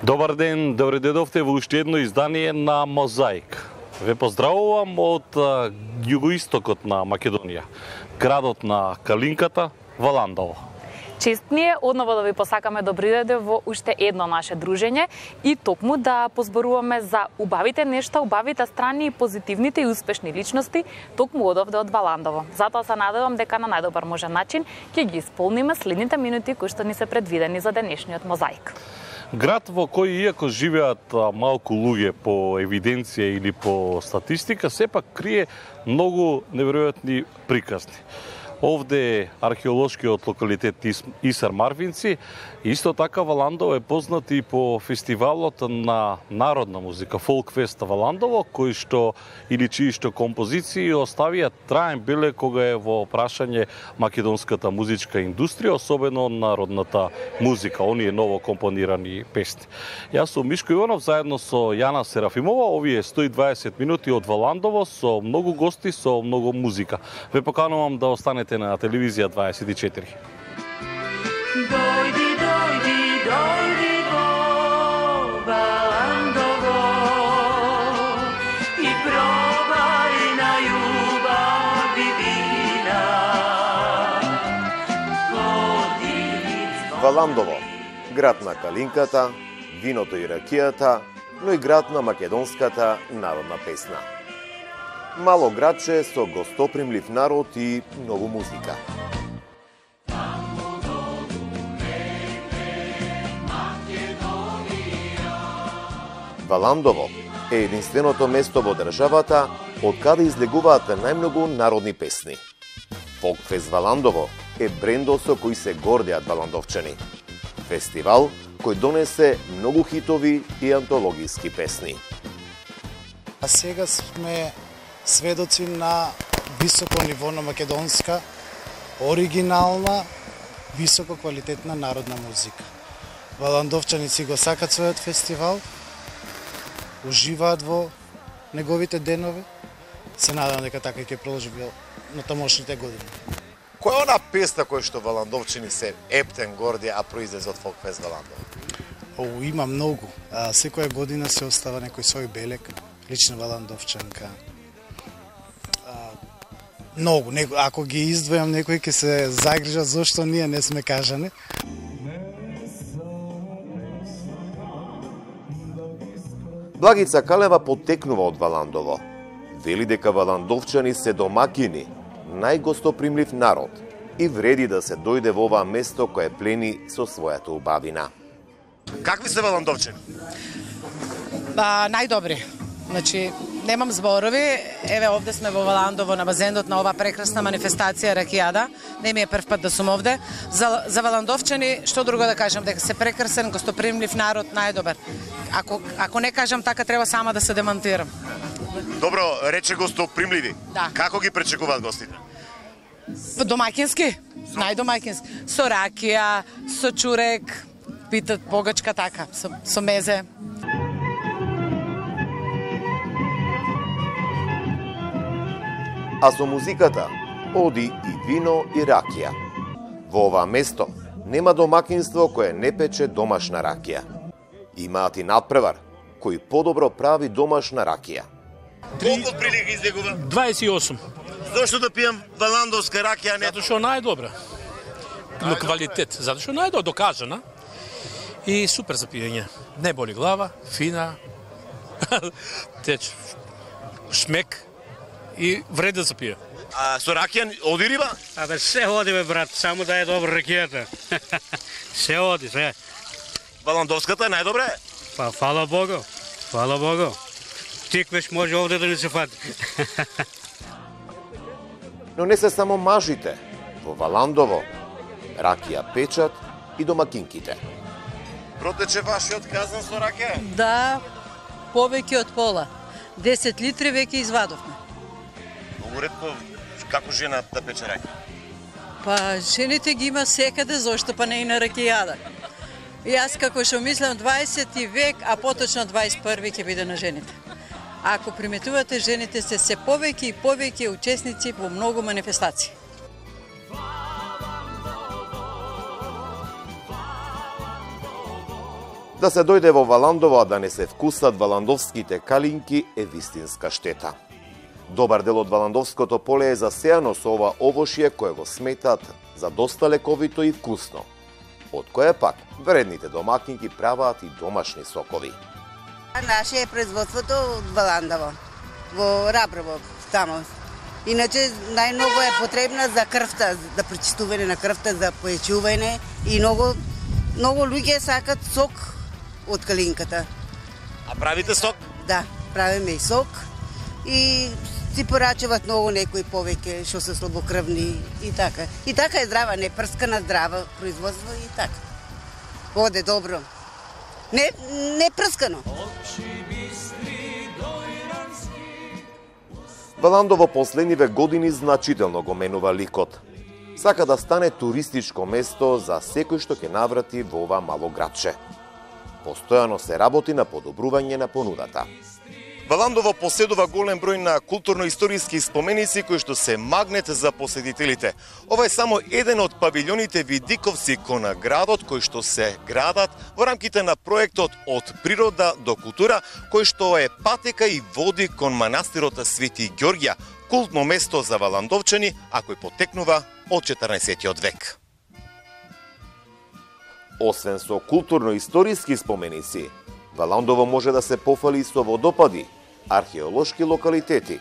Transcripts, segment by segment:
Добар ден, добре дојдовте во уште едно издание на Мозаик. Ве поздравувам од југоистокот на Македонија, градот на Калинката, Валандово. Чест ни е одново да ви посакаме добри дојде во уште едно наше дружење и токму да позборуваме за убавите нешта, убавите страни и позитивните и успешни личности токму одовде од Валандово. Затоа се надевам дека на најдобар можен начин ќе ги исполниме следните минути кои што ни се предвидени за денешниот Мозаик. Град во кој иако живеат малку луѓе по евиденција или по статистика, сепак крие многу неверојатни приказни. Овде е археолошкиот локалитет Исар Марвинци. Исто така Валандово е познат и по фестивалот на народна музика, Фолкфест Валандово, кој што или чии што композиции оставија траен белег кога е во прашање македонската музичка индустрија, особено народната музика, оние ново компонирани песни. Јас сум Мишко Иванов заедно со Јана Серафимова, овие 120 минути од Валандово со многу гости, со многу музика. Ве поканувам да останете на телевизија 24. Дојди, дојди, дојди во Валандово и пробај на љубав и вина. Валандово, град на Калинката, виното и ракијата, но и град на македонската народна песна. Мало градче со гостопримлив народ и многу музика. Валандово е единственото место во државата од каде излегуваат најмногу народни песни. Фолкфест Валандово е брендо со кој се гордеат валандовчани. Фестивал кој донесе многу хитови и антологиски песни. А сега сме сведоци на високо ниво на македонска, оригинална, високо квалитетна народна музика. Валандовчани си го сакат својот фестивал, уживаат во неговите денови. Се надам дека така ќе продолжи на тамошните години. Која е она песна која што валандовчани се ептен горди, а произлезе од Фолкфест Валандово? Има многу. Секоја година се остава некој свој белег, лична валандовчанка. Многу, ако ги издвојам некој ќе се загрижат зошто ние не сме кажани. Благица Калева потекнува од Валандово. Вели дека валандовчани се домакини, најгостопримлив народ и вреди да се дојде во ова место кое плени со својата убавина. Какви се валандовчани? Најдобри. Значи, немам зборови. Еве, овде сме во Валандово на базенот на ова прекрасна манифестација ракијада. Не ми е прв пат да сум овде. За валандовчани, што друго да кажам, дека се прекрасен, гостопримлив народ, најдобар. Ако не кажам така, треба сама да се демантирам. Добро, рече гостопримливи. Да. Како ги пречекуваат гостите? Домаќински, најдомаќински. Со ракија, со чурек, питат погачка така, со мезе. А со музиката оди и вино и ракија. Во ова место нема домакинство кое не пече домашна ракија. Имаат и надпревар кој подобро прави домашна ракија. Колку од прилика излегува? 28. Зошто да пијам валандовска ракија, не? Затоа што најдобра. Но квалитет, затоа што најдобра докажана. И супер за пиење. Не боли глава, фина, теч, шмек и вреда за пие. А со ракија оди риба? Абе, се оди, бе, брат, само да е добра ракијата. Се оди, се. Валандовската е најдобра? Па, фала Богу, фала Богу. Тиквеш може овде да не се фати. Но не се само мажите. Во Валандово ракија печат и домакинките. Протече вашиот казан со ракија? Да, повеќе од пола. 10 литри веќе извадовме. Многу ретко како жена да пече ракија? Па, жените ги има секаде, зошто па не и на ракијада. Јас како што мислам 20 век, а поточно 21 ќе биде на жените. Ако приметувате, жените се повеќе и повеќе учесници во многу манифестации. Да се дојде во Валандово, а да не се вкусат валандовските калинки е вистинска штета. Добар дел од Валандовското поле е засејано со ова овошје кое го сметат за доста лековито и вкусно, од кое пак вредните домакинки праваат и домашни сокови. Наше е производството од Валандово, во Раброво, тамо. Иначе најмногу е потребна за крвта, за пречистување на крвта, за појачување и многу луѓе сакат сок од калинката. А правите сок? Да, правиме и сок и си порачуваат многу некои повеќе што се слабокрвни и така. И така е здрава, не прскана, здрава производство и така. Оде добро. Не прскано. Валандово последниве години значително го менува ликот. Сака да стане туристичко место за секој што ќе наврати во ова мало градче. Постојано се работи на подобрување на понудата. Валандово поседува голем број на културно-историски споменици кои што се магнет за посетителите. Ова е само еден од павилјоните видиковци кон градот кои што се градат во рамките на проектот Од природа до култура, кој што е патека и води кон манастирот Свети Ѓорѓа, култно место за валандовчани, а кој потекнува од 14. век. Освен со културно-историски споменици, Валандово може да се пофали со водопади, археолошки локалитети.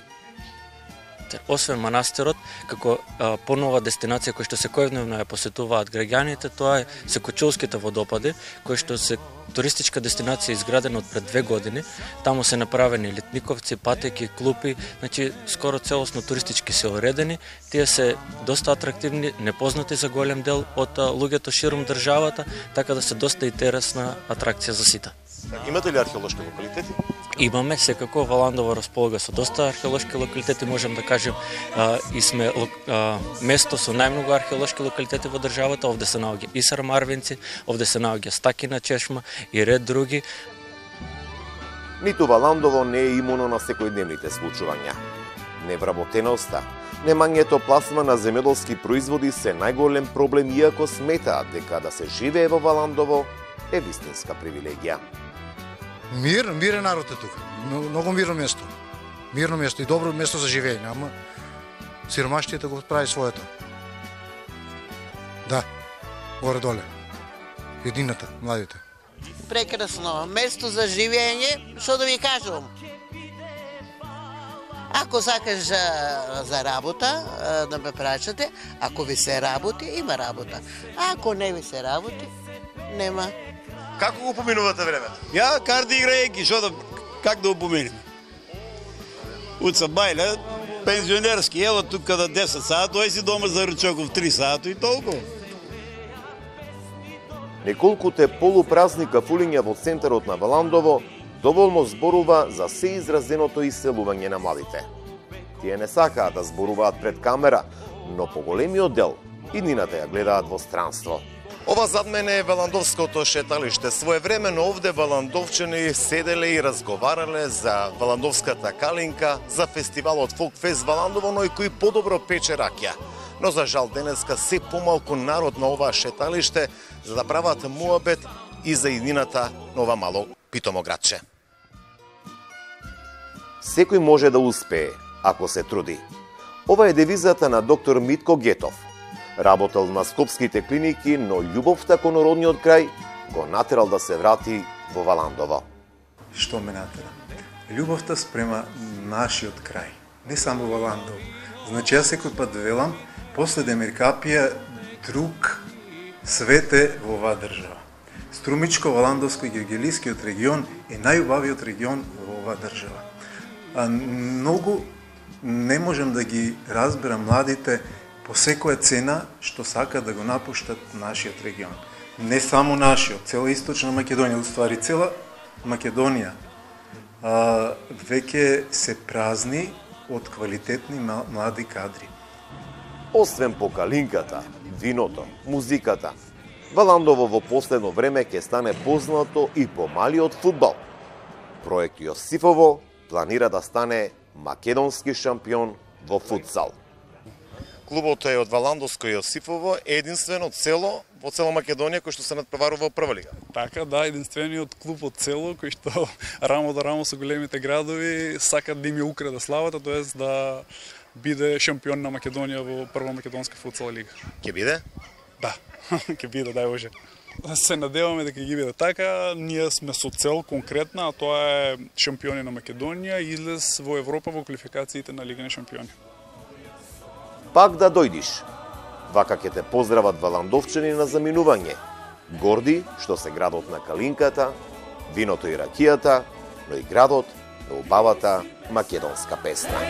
Освен манастирот, како понова дестинација која што секојдневно ја посетуваат граѓаните, тоа е Секочулските водопади, кои што се туристичка дестинација изградена од пред 2 години. Таму се направени летниковци, патеки, клупи, значи скоро целосно туристички се уредени. Тие се доста атрактивни, непознати за голем дел од луѓето ширум државата, така да се доста интересна атракција за сите. Имате ли археолошки локалитети? Имаме, секако Валандово располага со доста археолошки локалитети, можем да кажем, и сме место со најмногу археолошки локалитети во државата. Овде се наоѓа и Сармарвинци, овде се наоѓа Стакина чешма и ред други. Ниту Валандово не е имуно на секојдневните случувања. Невработеноста, немањето пласма на земјоделски производи се најголем проблем, иако сметаат дека да се живее во Валандово е вистинска привилегија. Мирен народ е тука. Многу мирно место. Мирно место и добро место за живење, ама сиромаштието го прави своето. Да, горе-доле. Едината, младите. Прекрасно место за живење, што да ви кажам. Ако сакаш за работа, да ме прашате, ако ви се работи, има работа. Ако не ви се работи, нема. Како го поминувате времето? Ја карти играјќи, как да го поминем? Уца бајле, пензионерски, ево тука да 10 сат, тој си дома за ручоков 3 сата и толку. Неколкуте полупразни кафулиња во центарот на Валандово доволно зборува за се изразеното иселување на младите. Тие не сакаат да зборуваат пред камера, но поголемиот дел иднината ја гледаат во странство. Ова зад мене е Валандовското шеталиште. Своевремено овде валандовчани седеле и разговарале за валандовската калинка, за фестивалот Фолкфест Валандово, но и кој подобро пече ракија. Но за жал денеска се помалку народ на ова шеталиште за да прават муабет и за иднината на ова мало питомо градче. Секој може да успее, ако се труди. Ова е девизата на доктор Митко Гетов. Работел на скопските клиники, но љубовта кон родниот крај го натерал да се врати во Валандово. Што ме натера? Љубовта спрема нашиот крај, не само Валандово. Значи, јас секој пат велам, после Демиркапија, друг свет е во оваа држава. Струмичко-Валандовско и Георгијскиот регион е најубавиот регион во оваа држава. Многу не можам да ги разберам младите по секоја цена што сакаат да го напуштат нашиот регион. Не само нашиот, цела Источна Македонија, уствари цела Македонија веќе се празни од квалитетни млади кадри. Освен по калинката, виното, музиката, Валандово во последно време ќе стане познато и по малиот фудбал. Проект Јосифово планира да стане македонски шампион во футзал. Клубот е од Валандовско Јосифово, единствено цело во цела Македонија кој што се надпреварува во прва лига. Така, да, единствениот клуб од цело кој што рамо до рамо со големите градови сакат да им ја украде славата, тоест да биде шампион на Македонија во прва македонска футсал лига. Ќе биде? Да, ќе биде, дај Боже. Се надеваме дека ќе биде така, ние сме со цел конкретна, а тоа е шампиони на Македонија и излез во Европа во квалификациите на Лига на шампиони. Пак да дојдиш. Вака ќе те поздрават валандовчани на заминување. Горди што се градот на калинката, виното и ракијата, но и градот на убавата македонска песна.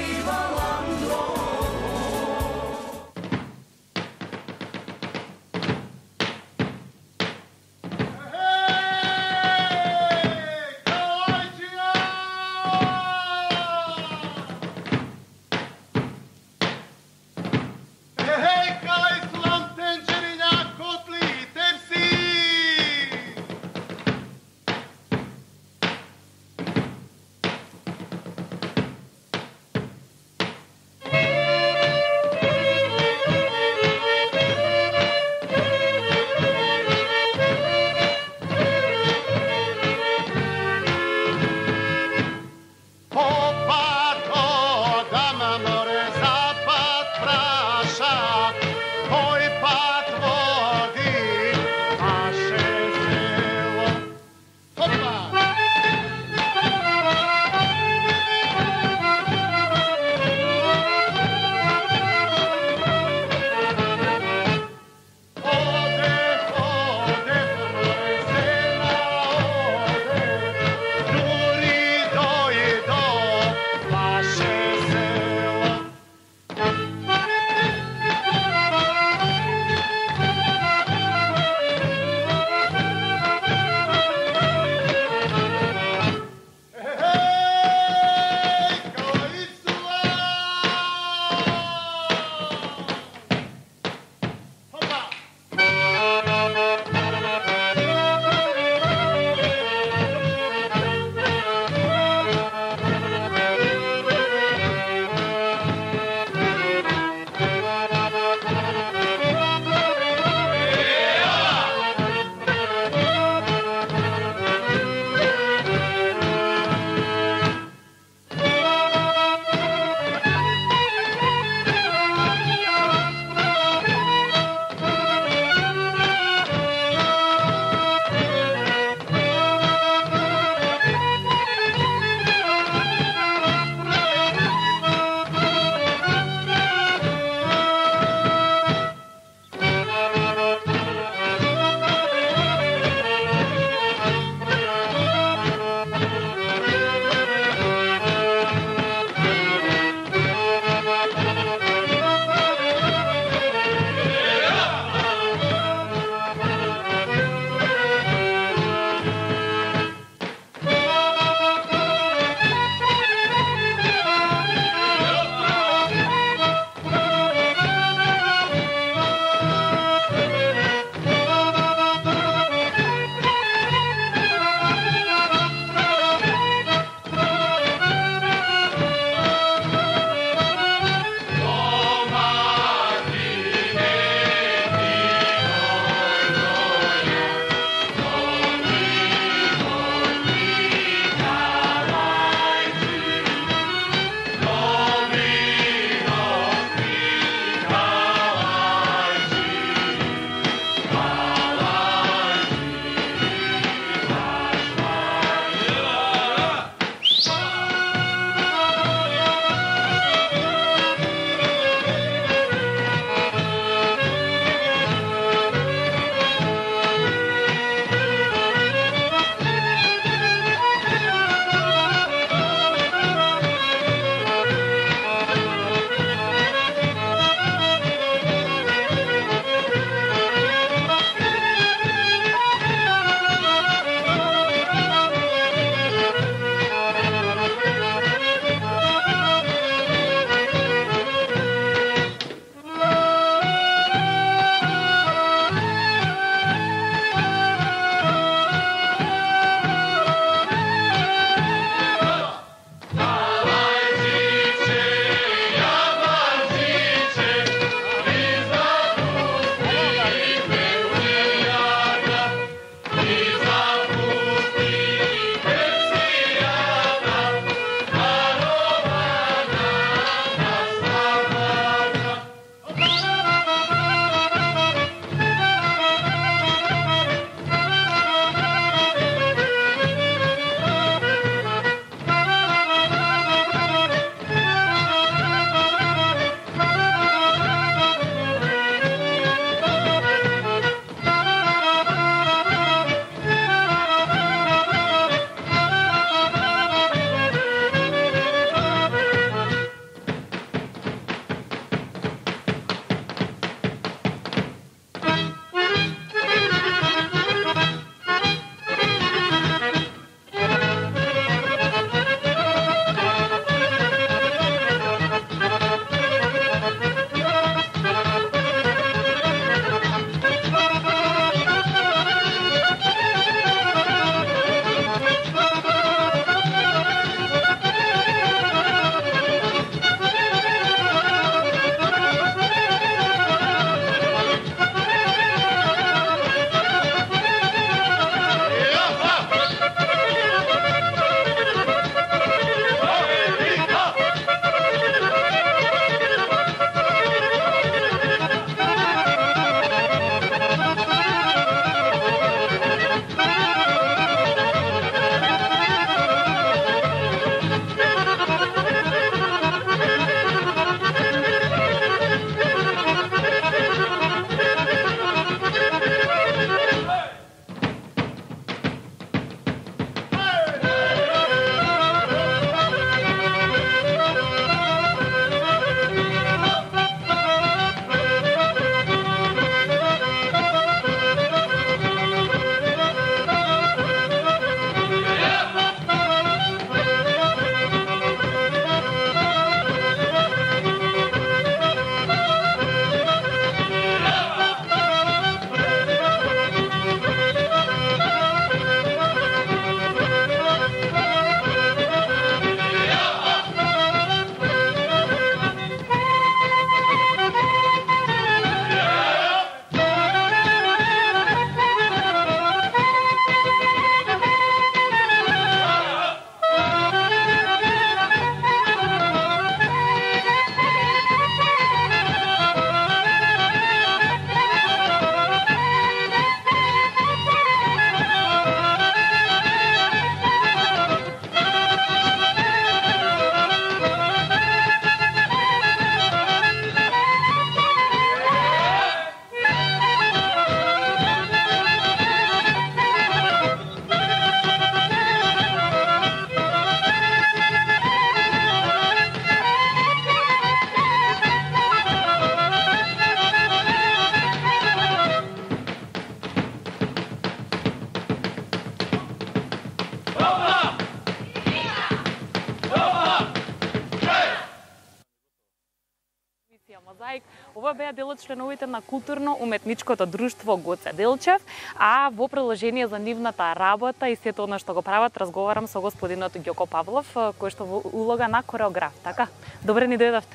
Мозаик. Ова беа дел од членовите на културно-уметничкото друштво Гоце Делчев, а во приложение за нивната работа и сето она што го прават, разговарам со господинот Ѓоко Павлов, кој што во улога на кореограф, така? Добре ни дојдовте.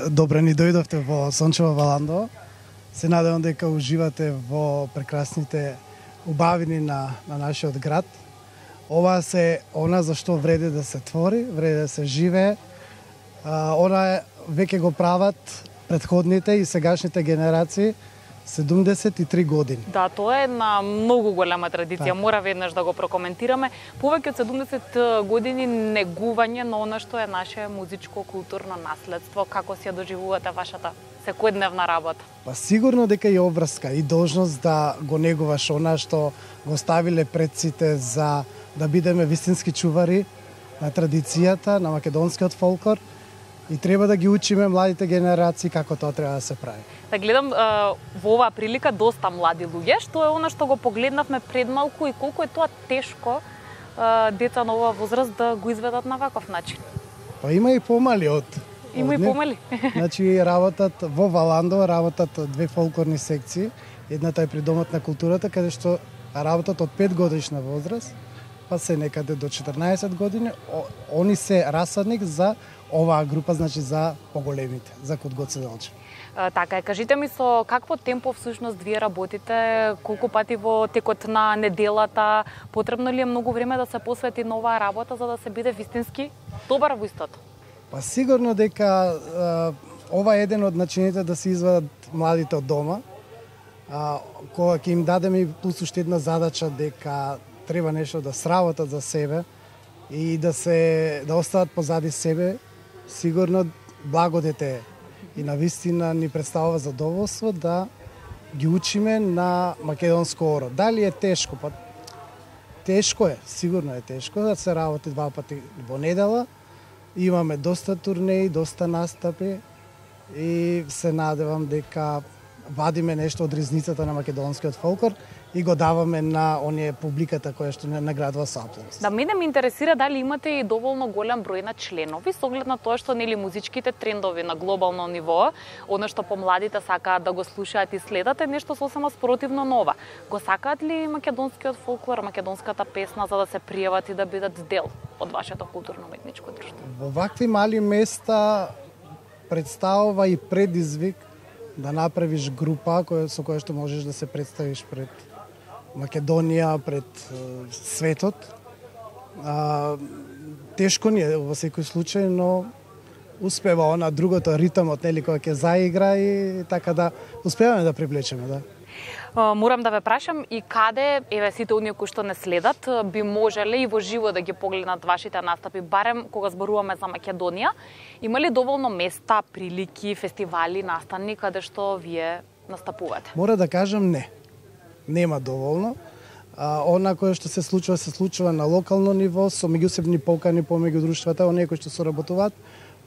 Добре ни дојдовте во сончево Валандово. Се надевам дека уживате во прекрасните убавини на нашиот град. Ова се она за што вреди да се твори, вреди да се живее. Она веќе го прават претходните и сегашните генерации 73 години. Да, тоа е една многу голема традиција, мора веднаш да го прокоментираме. Повеќе од 70 години негување на она што е наше музичко културно наследство. Како си ја доживувате вашата секојдневна работа? Па сигурно дека и обврска и должност да го негуваш она што го ставиле предците за да бидеме вистински чувари на традицијата, на македонскиот фолклор и треба да ги учиме младите генерации како тоа треба да се прави. Да гледам во оваа прилика доста млади луѓе, што е она што го погледнавме пред малку и колку е тоа тешко деца на оваа возраст да го изведат на ваков начин. Па има и помали од Има и помали. Значи работат во Валандово, работат две фолклорни секции. Едната е при Домот на културата, каде што работат од 5 годишна возраст, па се некаде до 14 години. Они се расадник за оваа група, значи за поголемите, за Код Гоце Делчев. Така е, кажите ми со какво темпо всушност вие работите, колку пати во текот на неделата, потребно ли е многу време да се посвети на оваа работа за да се биде вистински добар во истото? Па сигурно дека ова е еден од начините да се извадат младите од дома. Кога ќе им дадеме и плюс уште една задача дека треба нешто да сработат за себе и да остават позади себе, сигурно благодете и навистина ни представува задоволство да ги учиме на македонско оро. Дали е тешко? Па тешко е, сигурно е тешко да се работи 2 пати во недела. Имаме доста турнеи, доста настапи и се надевам дека вадиме нешто од ризницата на македонскиот фолклор и го даваме на оние публиката која што не наградува со аплауз. Да, мене ме интересира дали имате и доволно голем број на членови со оглед на тоа што нели музичките трендови на глобално ниво, она што помладите сакаат да го слушаат и следат е нешто сосема спротивно нова. Го сакаат ли македонскиот фолклор, македонската песна за да се пријават и да бидат дел од вашето културно-уметничко друштво? Во вакви мали места представува и предизвик да направиш група со која што можеш да се представиш пред Македонија, пред светот. Тешко ни е во секој случај, но успева она другото ритмот, нели, кој ќе заигра и така да успеваме да привлечеме, да. Морам да ве прашам и каде, еве сите оние кои што не следат, би можеле и во живо да ги погледнат вашите настапи, барем кога зборуваме за Македонија. Има ли доволно места, прилики, фестивали, настани каде што вие настапувате? Мора да кажам не. Нема доволно. Она кое што се случува на локално ниво, со меѓусебни покани помеѓу друштвата, оние кои што соработуваат,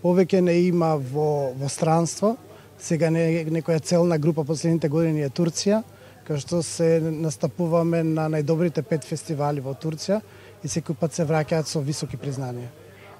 повеќе не има во странство. Сега некоја целна група последните години е Турција, кај што се настапуваме на најдобрите 5 фестивали во Турција и секој пат се враќаат со високи признанија.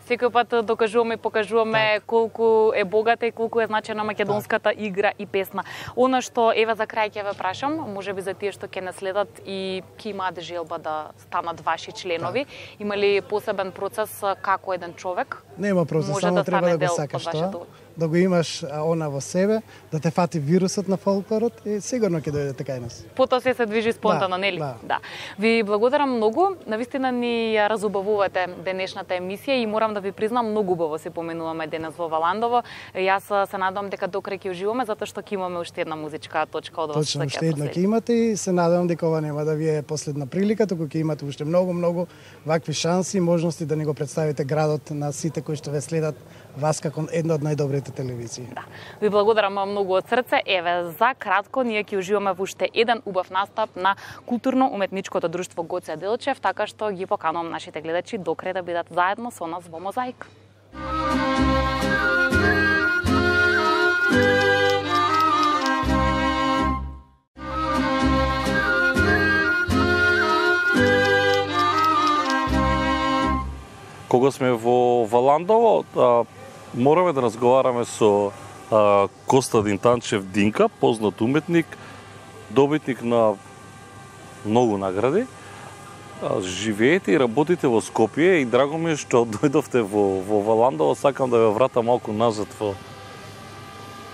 Секој пат докажуваме и покажуваме колку е богата и колку е значена македонската игра и песна. Она што еве за крај ќе ве прашам, можеби за тие што ќе не следат и ќе имаат желба да станат ваши членови, има ли посебен процес како еден човек? Нема процес, само треба да го сакаш тоа, да го имаш она во себе, да те фати вирусот на фолклорот и сигурно ќе дојдете кај нас. Потоа се движи спонтано, нели? Да. Ви благодарам многу, навистина ни ја разубавувате денешната емисија и морам да ви признам, многу убаво се поменуваме денес во Валандово. Јас се надевам дека до крај ќе уживаме затоа што ќе имаме уште една музичка точка од вас. Точно, уште една ќе имате и се надевам дека ова нема да ви е последна прилика, туку ќе имате уште многу вакви шанси и можности да ни го представите градот на сите кои што ве следат вас како една од најдобрите телевизии. Да. Ви благодарам многу од срце. Еве, за кратко ние ќе уживаме во уште еден убав настап на културно-уметничкото друштво Гоце Делчев, така што ги поканувам нашите гледачи до крај да бидат заедно со нас во Мозаик. Кога сме во Валандово, мораме да разговараме со Костадин Танчев Динка, познат уметник, добитник на многу награди. Живеете и работите во Скопје и драго ми е што дојдовте во Валандово. Сакам да ве вратам малку назад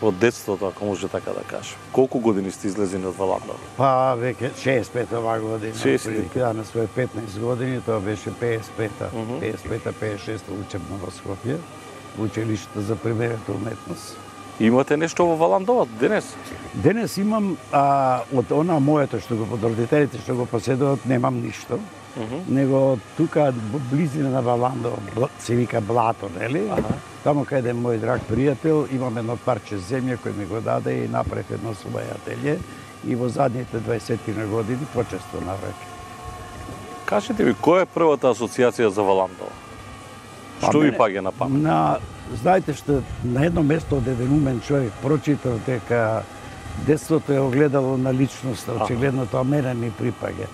во детството, ако може така да кажам. Колку години сте излезени од Валандово? Па, веќе 65 оваа година. 65. На своје 15 години, тоа беше 55-та, 56-та учебно во Скопје, во училиштето за примерената уметност. Имате нешто во Валандово денес? Денес имам од она моето што го под родителите што го поседуваат, немам ништо. Него тука во близина на Валандово се вика Блато, нели? Таму каде мој драг пријател имам едно парче земја кој ми го даде и направив едно своје ателје и во задните 20 на години почествувам веќе. Кажете ми, која е првата асоциација за Валандово? Што ви паѓа на памет? Знаете што, на едно место од еден умен човек прочитав дека детството е огледало на личноста, очигледно тоа мене ми припаѓа.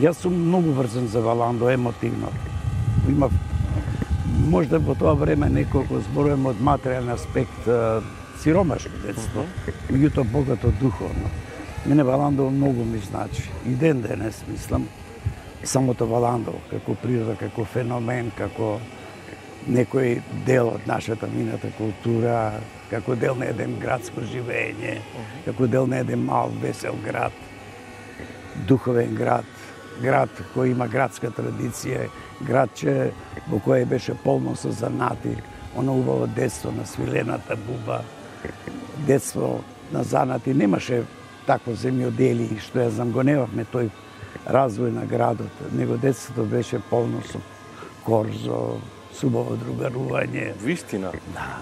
Јас сум многу врзан за Валандово, емотивно. Имав, можда во тоа време неколку зборувам од материјален аспект, сиромашко детство, меѓутоа богато духовно. Мене Валандово многу ми значи. И ден денес мислам, самото Валандово, како природа, како феномен, како некој дел од нашата мината култура, како дел на еден градско живење, како дел на еден мал, весел град, духовен град, град кој има градска традиција, градче во кое беше полно со занати, оно убаво детство на свилената буба, детство на занати, немаше такво земјодели, што ја знам, го немавме тој развој на градот, него детството беше полно со корзо, субаво другарување. Вистина? Да.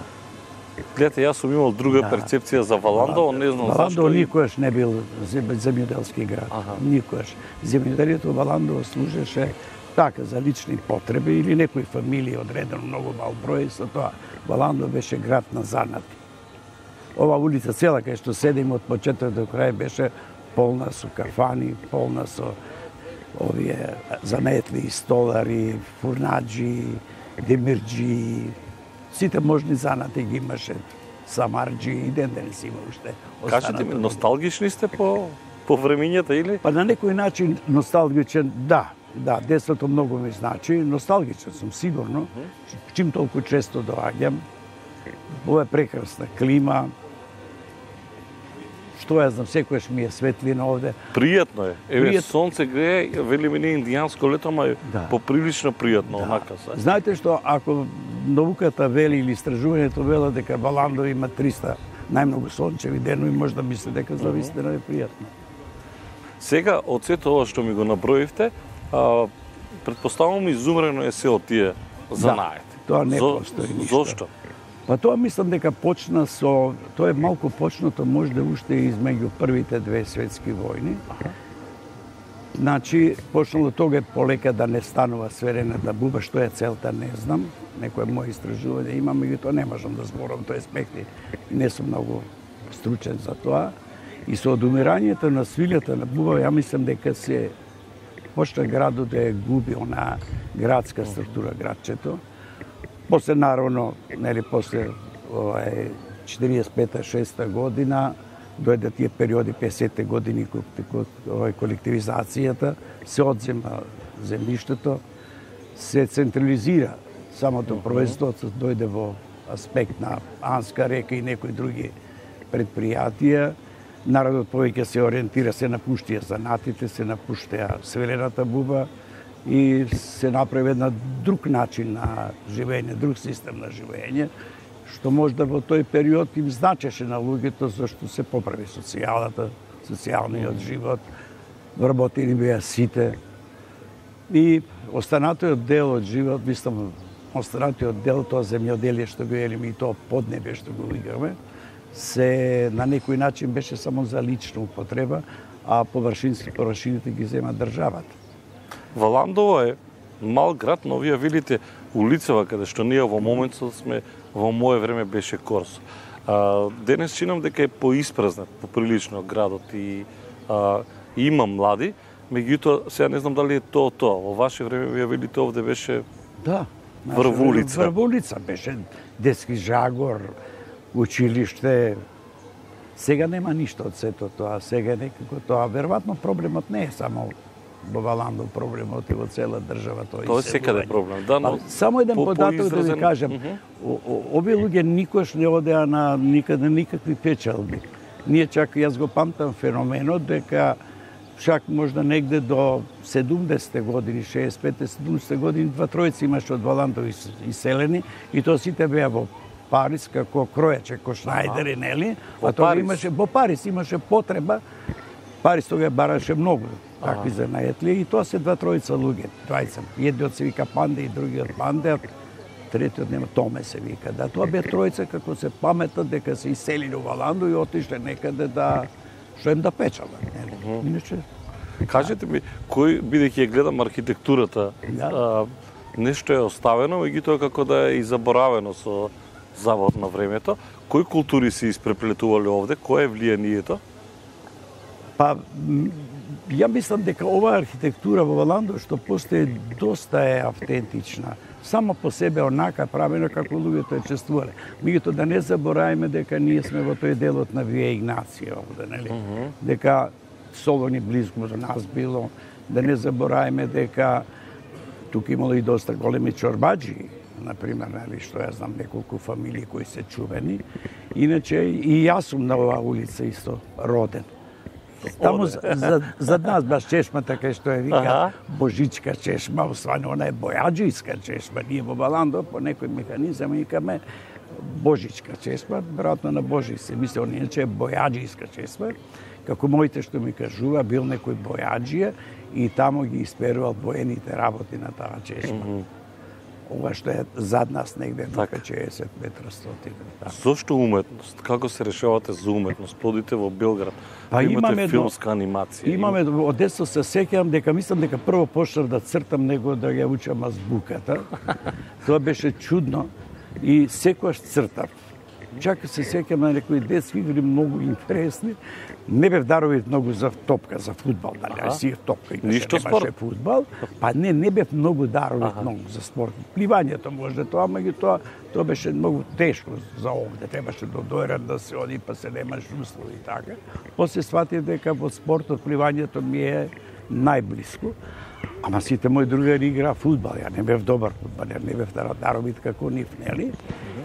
Гледате, јас сум имал друга перцепција за Валандово, не знам зашто. Валандово никогаш не бил земјоделски град. Никогаш. Земјоделието Валандово служеше така за лични потреби или некои фамилии одредено многу мал број, со тоа Валандово беше град на занати. Ова улица цела кај што седим од почеток до крај беше полна со кафани, полна со овие заметли, столари, фурнаджи, демирджи, сите можни занати ги имаше, самарджи и ден денес има уште. Кажете ми, носталгични сте по времењата или? Па на некој начин носталгичен, да, детството многу ми значи, носталгичен сум сигурно, чим толку често доаѓам. Ова е прекрасна клима, што ја знам, секојаш ми е светлина овде. Пријатно е. Еве, сонце грее, вели ми не индијанско лето, ама поприлично пријатно, онака се. Знаете што, ако науката вели или истражувањето вела дека Валандово има 300 најмногу сончеви денови, може да мисли дека за вистина е пријатно. Сега, од сето ова што ми го наброивте, претпоставувам изумрено е се од тие занаети. Тоа не постои ништо. Зошто? Па тоа мислам дека почна со, тоа е малку почнато можда уште измеѓу првите две светски војни. Значи, почнало тога полека да не станува сверената буба, што е целта, не знам. Некој мој истражување има, меѓутоа не можам да зборам тој аспекти. Не сум многу стручен за тоа. И со одумирањето на свилјата на буба, ја мислам дека се почна градот да ја губи она градска структура, градчето. После, наравно, нели, после 45-6 година, дојде тие периоди 50-те години колективизацијата, се одзема земјиштето, се централизира самото производство, дојде во аспект на Анска река и некои други предпријатија. Народот повеќе се ориентира, се напуштија занатите, се напуштија свилената буба, и се направи една друг начин на живење, друг систем на живење, што можда во тој период им значеше на луѓето, зашто се поправи социјалниот живот, вработени беа сите. И останатиот дел од живот, мислам, останатиот дел, тоа земјоделие што го елиме и тоа поднебе што го играме, се на некој начин беше само за лична употреба, а површините ги зема државата. Валандово е мал град, но вие видите улицава каде што ние во моментот сме, во мое време беше Корсо. Денес чинам дека е поиспразнат поприлично градот и има млади, меѓутоа сега не знам дали е тоа. Во ваше време вие видите овде беше врв улица. Врв улица беше детски жагор, училиште. Сега нема ништо од сето тоа. Сега некако тоа, веројатно проблемот не е само во Валандов, проблемот е во цела држава тоа. Тоа е секаде проблем, да, но само еден податок да ви кажам. Овие луѓе никош не одеа на никакви печалби. Ние чак, јас го памтам феноменот дека чак можда негде до 70-те години, 65-70 години, 2-3 имаше од Валандов иселени и тоа сите беа во Париз како кројаче, ко Шнајдери, нели? А тоа имаше во Париз имаше потреба. Париз тога бараше многу такви занајатли и тоа се 2-3 луѓе, 20. Едниот се вика Панде и другиот Панде, третиот нема Томе се вика. Да, тоа бе тројца како се паметат дека се иселили во Валандо и отишле некаде да што им да печалат, нели? Иначе кажете ми, кој бидејќи ја гледам архитектурата, нешто е оставено, меѓутоа како да е и заборавено со завод на времето, кои култури се испреплетувале овде, кое е влијанието? Па, ја мислам дека оваа архитектура во Валандо што постои доста е автентична. Само по себе онака правено како луѓето е чествувале. Меѓутоа да не забораваме дека ние сме во тој делот на Вија Игнација овде, нели? Дека Солони близко до нас било, да не забораваме дека тука имало и доста големи чорбаџи, например, нели, што ја знам неколку фамилии кои се чувени. Иначе и јас сум на оваа улица исто роден. Таму за нас баш чешмата кај што е вика Божичка чешма, освајно она е бојаџијска чешма. Ние во Валандо по некој механизам викаме Божичка чешма, веројатно на Божи се мисли, он иначе е бојаџијска чешма. Како моите што ми кажува, бил некој бојаџија и таму ги исперувал боените работи на таа чешма. Ова што е зад нас негде на 50 метра стотина. Зошто уметност? Како се решавате за уметност? Плодите во Белград. Па имате филмска анимација. Имаме, од детство се сеќавам дека мислам дека прво почнав да цртам него да ја учам азбуката. Тоа беше чудно и секогаш цртав. Чак се сеќавам на некои детски игри многу интересни. Не бев даровит многу за топка, за фудбал, дали, си топка и немаше фудбал. Па не бев многу даровит многу за спорт. Пливањето може тоа, меѓутоа тоа беше многу тешко за овде. Требаше до дојран да се оди, па се немаш услови и така. После сватив дека во спортот пливањето ми е најблиско. Ама сите мои другари игра фудбал. Ја не бев добар фудбалер, не бев даровит како нив, нели?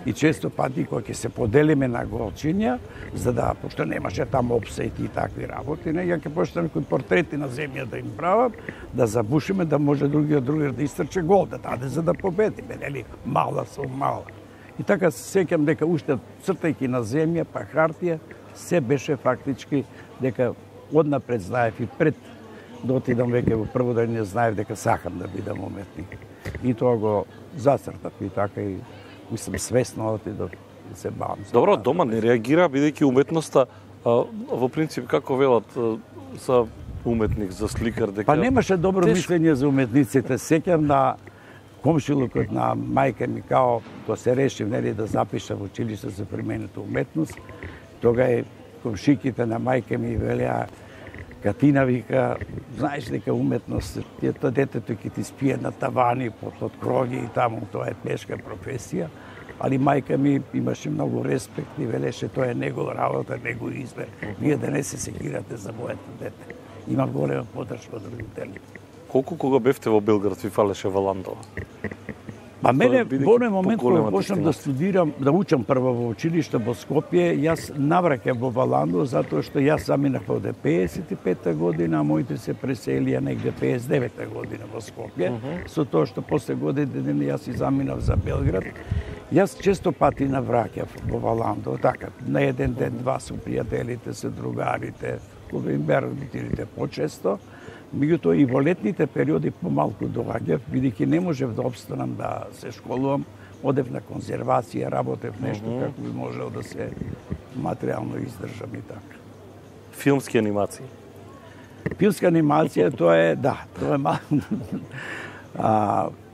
И често пати кога ќе се поделиме на голчиња, за да, пошто немаше таму опсети и такви работи, не, ја ќе почнеме кои портрети на земја да им правам, да забушиме, да може другиот другар да истрче гол, да даде за да победиме, нели? Мала со мала. И така се сеќам дека уште цртајќи на земја, па хартија, се беше фактички дека однапред знаев и пред да отидам веќе во прво да не знаев дека сакам да бидам уметник. И тоа го зацртав и така и мислам свесно отидов да се бавам. Добро, дома не реагира бидејќи уметноста во принцип како велат за уметник, за сликар дека па немаше добро мислење за уметниците. Сеќам на комшилукот на мајка ми као тоа се решив нели да запишам во училиште за применета уметност. Тога е комшиките на мајка ми велеа Катина вика, знаеш дека уметност, тоа детето ќе ти спие на тавани, под кроги и таму, тоа е тешка професија. Али мајка ми имаше многу респект и велеше тоа е негова работа, негов избор. Вие да не се секирате за моето дете. Имам голема подршка од родителите. Колку кога бевте во Белград ви фалеше Валандова? Па мене во оној момент кога почнав да студирам, да учам прво во училиште во Скопје, јас навраќав во Валандо затоа што јас заминав овде 55-та година, а моите се преселија негде 59-та година во Скопје. Со тоа што после години јас и заминав за Белград. Јас често пати навраќав во Валандо, така, на еден ден, два со пријателите, со другарите, кога им беа родителите почесто. Меѓутоа и во летните периоди помалку доаѓав, бидејќи не можев да обстанам да се школувам, одев на конзервација, работев нешто како би можел да се материјално издржам и така. Филмски анимации? Филмска анимација, тоа е, да, тоа е малку.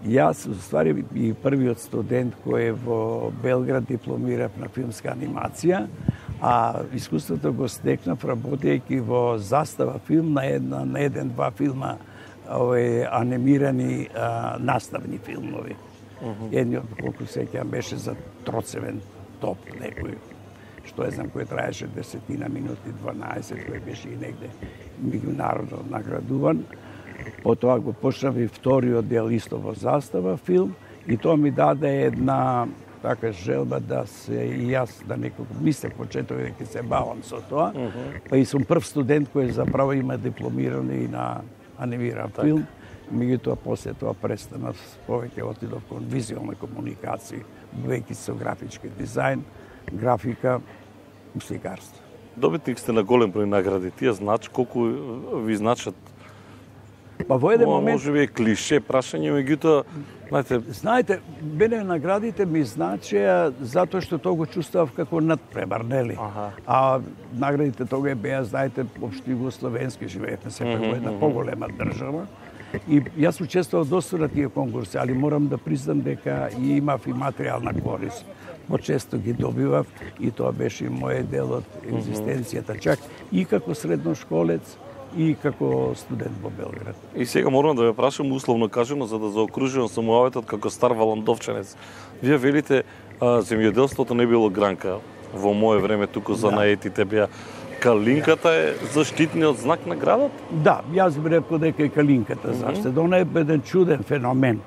Јас, ствари, и првиот студент кој во Белград дипломирав на филмска анимација, а искуството го стекнав работејќи во Застава филм на еден-два филма анимирани наставни филмови. Едниот, колку сеќавам, беше за Троцевен топ, некој што е знам, кој траеше 10 минути, 12, кој беше и негде меѓународно наградуван. Потоа го почнав и вториот дел исто во Застава филм и тоа ми даде една така желба да се и јас да некако мислев почеток дека се бавам со тоа. Па и сум прв студент кој заправо има дипломиран и на анимиран филм. Меѓутоа после тоа престанав, повеќе отидов кон визуелна комуникација, веќе со графички дизајн, графика, сликарство. Добитник сте на голем број награди. Тие колку ви значат? Па во еден момент може би е клише прашање, меѓутоа, знаете, мене наградите ми значеа затоа што тоа го чувствував како надпревар, нели? А наградите тога беа, знаете, општо југословенски, живеевме сепак во една поголема држава. И јас учествував доста на тие конкурси, али морам да признам дека и имав и материјална корист. Почесто ги добивав и тоа беше и мојот дел од екзистенцијата, чак и како средношколец, и како студент во Белград. И сега морам да ве прашам условно кажано за да заокружувам самоаветот како стар валандовчанец. Вие велите земјоделството не било гранка во мое време, туку занаетите беа. Калинката е заштитниот знак на градот? Да, јас би рекол дека е калинката заштита. Она е еден чуден феномен.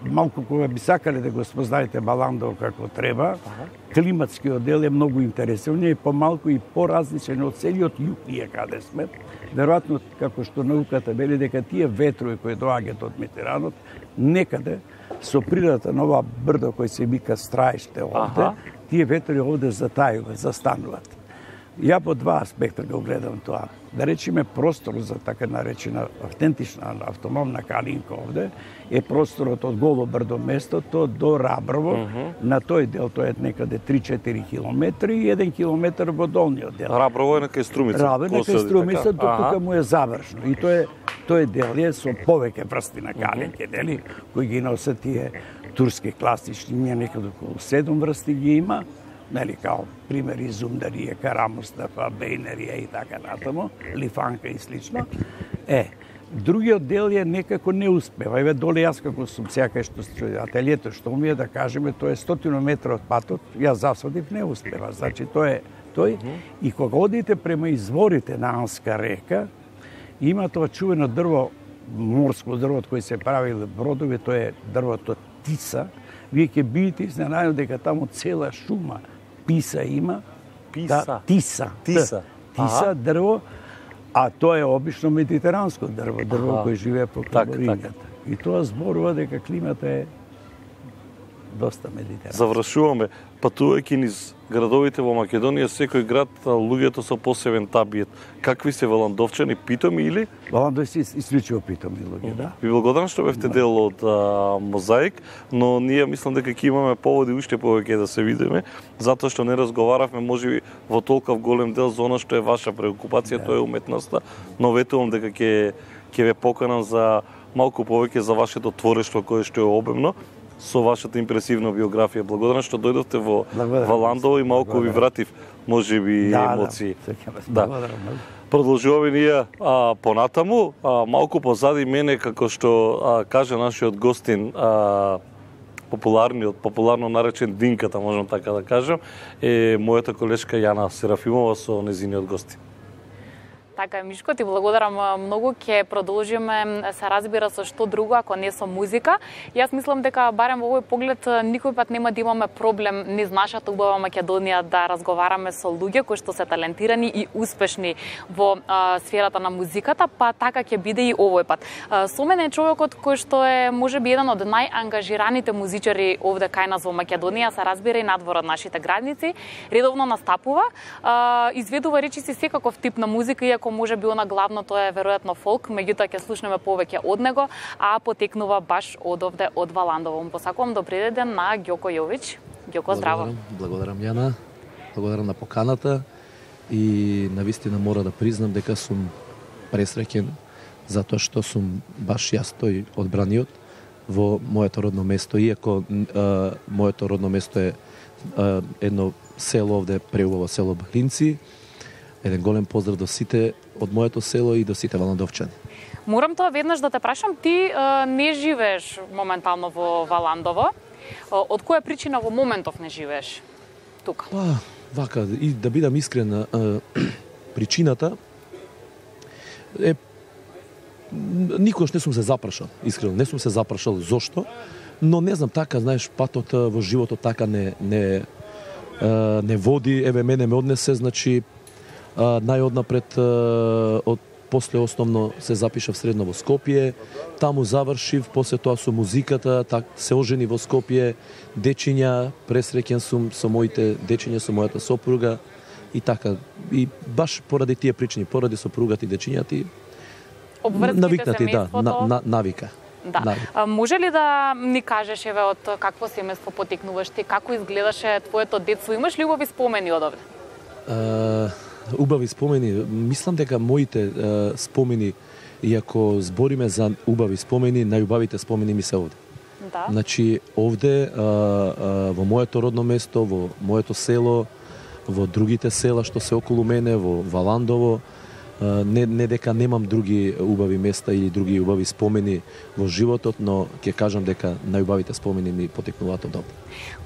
Малку кога би сакале да го спознаете Баландово како треба, климатскиот дел е многу интересен. Он е помалку и поразличен од целиот југ ние каде сме. Веројатно, како што науката вели, дека тие ветрови кои доаѓаат од Медитеранот, некаде со природата на ова брдо кој се вика Страиште овде, тие ветрови овде затајуваат, застануваат. Ја по два аспекта го гледам тоа. Да речеме простор за така наречена автентична автономна калинка овде е просторот од Голо брдо местото до Раброво. На тој дел тоа е некаде 3-4 километри и 1 километар во долниот дел. Раброво е на кај Струмица. Раброво е на кај Струмица, тука му е завршно. И тој дел е со повеќе врсти на калинки, нели, кои ги носат тие турски класични, ние некаде околу 7 врсти ги има. Нели, као примери Зумдарија, Карамустафа, Бейнерија и така натаму, Лифанка и слично. Другиот дел е некако не успева. Еве доле јас како сум сега што ателието што ми е да кажеме, тоа е 100 метра од патот, јас засадив не успева. Значи тој и кога одите према изворите на Анска река, има тоа чувено дрво, морско дрво од кој се правиле бродови, тоа е дрвото Тиса. Вие ќе бидете изненадени дека таму цела шума писа има. Тиса дрво, а тоа е обично медитеранско дрво кој живее по Кабарингата. И тоа зборува дека климата е доста медитеранска. Завршуваме. Патувајќи низ градовите во Македонија, секој град луѓето со посебен табиет. Какви се валандовчани, питоми или? Валандови се исклучиво питоми луѓе, да. Ви благодарам што бевте дел од Мозаик, но ние мислам дека ќе имаме поводи уште повеќе да се видиме, затоа што не разговаравме можеби во толков голем дел за она што е ваша преокупација, тоа е уметноста, но ветувам дека ќе ве поканам за малку повеќе за вашето творештво кое што е обемно, со вашата импресивна биографија. Благодарам што дојдовте во Валандово и малку ви вратив можеби емоции. Продолжуваме ние понатаму, малку позади мене, како што кажа нашиот гостин, популарно наречен Динката, можам така да кажам, е мојата колешка Јана Серафимова со незиниот гостин. Така е, Мишко, ти благодарам многу. Ќе продолжиме, се разбира, со што друго, ако не со музика. Јас мислам дека барем во овој поглед никој пат нема да имаме проблем низ нашата убава Македонија да разговараме со луѓе кои што се талентирани и успешни во сферата на музиката, па така ќе биде и овој пат. Со мене е човекот кој што е можеби еден од најангажираните музичари овде кај нас во Македонија, се разбира и надвор од нашите граници. Редовно настапува, изведува речиси секаков тип на музика, иако може би она главно тоа е веројатно фолк, меѓутоа ќе слушнеме повеќе од него, а потекнува баш од овде од Валандово. Посакувам добри ден на Ѓоко Јович. Ѓоко, здраво. Благодарам Јана. Благодарам на поканата и навистина мора да признам дека сум пресреќен затоа што сум баш јас тој одбраниот во моето родно место, иако моето родно место е едно село овде, преубаво село Балинци. Еден голем поздрав до сите од моето село и до сите валандовчани. Морам тоа веднаш да те прашам, ти не живееш моментално во Валандово. Од која причина во моментов не живееш тука? Вака, и да бидам искрен, причината е никогаш не сум се запрашал, искрено, не сум се запрашал зошто, но не знам, така, знаеш, патот во животот така не води, еве мене ме однесе, значи најоднапред од после основно се запишав средно во Скопје, таму завршив, после тоа со музиката, се ожени во Скопје, дечиња, пресреќен сум со моите дечиња, со мојата сопруга и така. И баш поради тие причини, поради сопругата и дечињата, навикнати, да, навика. Да. Може ли да ни кажеш еве од какво семејство потекнуваш ти, како изгледаше твоето детство? Имаш ли убави спомени од овде? Убави спомени, мислам дека моите спомени, иако збориме за убави спомени, најубавите спомени ми се овде. Да. Значи, овде, во моето родно место, во моето село, во другите села што се околу мене, во Валандово, не дека немам други убави места или други убави спомени во животот, но ќе кажам дека најубавите спомени ми потекнуваат од овде.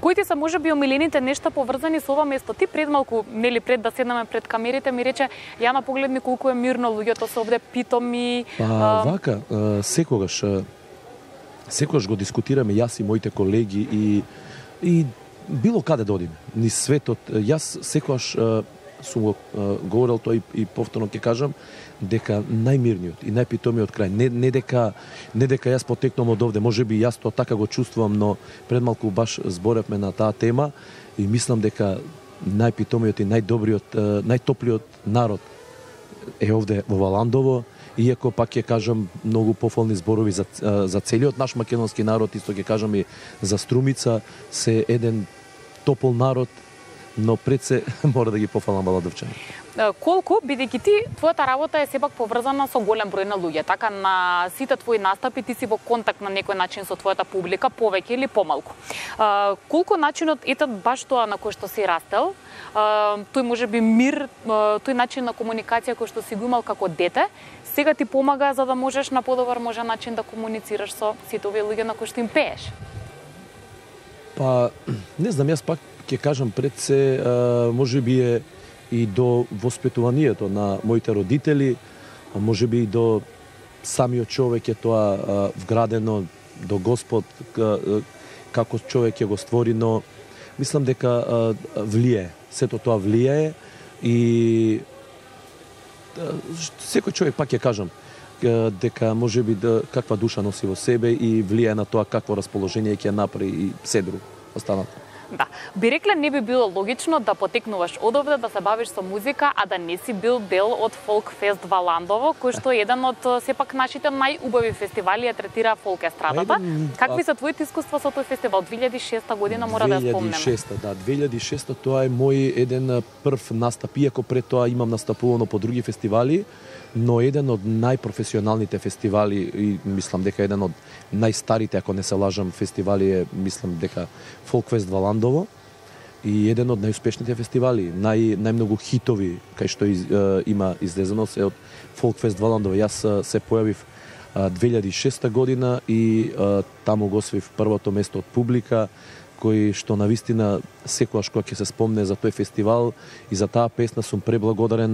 Кои ти се можеби омилените нешта поврзани со ова место? Ти пред малку, нели пред да седнеме пред камерите, ми рече, Јана, погледни колку е мирно, луѓето се овде питоми. Вака, секогаш го дискутираме јас и моите колеги и било каде да одиме, низ светот. Јас секогаш сум го говорил тоа и повторно ќе кажам, дека најмирниот и најпитомиот крај, не дека јас потекнувам од овде, можеби јас тоа така го чувствувам, но пред малку баш зборевме на таа тема и мислам дека најпитомиот и најдобриот, најтоплиот народ е овде во Валандово, иако пак ќе кажам многу пофолни зборови за целиот наш македонски народ, исто ќе кажам и за Струмица, се еден топол народ, но пред се мора да ги пофалам валандовчани. Колку, бидејќи ти, твојата работа е сепак поврзана со голем број на луѓе, така на сите твои настапи ти си во контакт на некој начин со твојата публика, повеќе или помалку. Колку начинот, ете баш тоа на кој што си растел, тој можеби мир, тој начин на комуникација кој што си го имал како дете, сега ти помага за да можеш на подобар можен начин да комуницираш со сите овие луѓе на кои што им пееш? Па, не знам, јас пак ќе кажам пред се, можеби е и до воспитуванието на моите родители, можеби и до самиот човек е тоа вградено до Господ, како човек ќе го створи, но мислам дека влијае, сето тоа влијае и секој човек, пак ќе кажам, дека можеби каква душа носи во себе и влијае на тоа какво расположение ќе направи и се друго останато. Да. Би рекле, не би било логично да потекнуваш од овде, да се бавиш со музика, а да не си бил дел од Фолк Фест Валандово, кој што е еден од сепак нашите најубави фестивали, ја третира фолк естрадата. Какви се твоите искуства со тој фестивал? 2006 година мора да ја спомнеме. 2006 тоа е мој еден прв настап, иако пред тоа имам настапувано по други фестивали, но еден од најпрофесионалните фестивали и мислам дека еден од најстарите, ако не се лажам, фестивали е, мислам дека Фолкфест Валандово и еден од најуспешните фестивали, најмногу хитови кај што има излезено се од Фолкфест Валандово. Јас се појавив 2006 година и таму го освоив првото место од публика, кој што навистина секогаш кога ќе се спомне за тој фестивал и за таа песна сум преблагодарен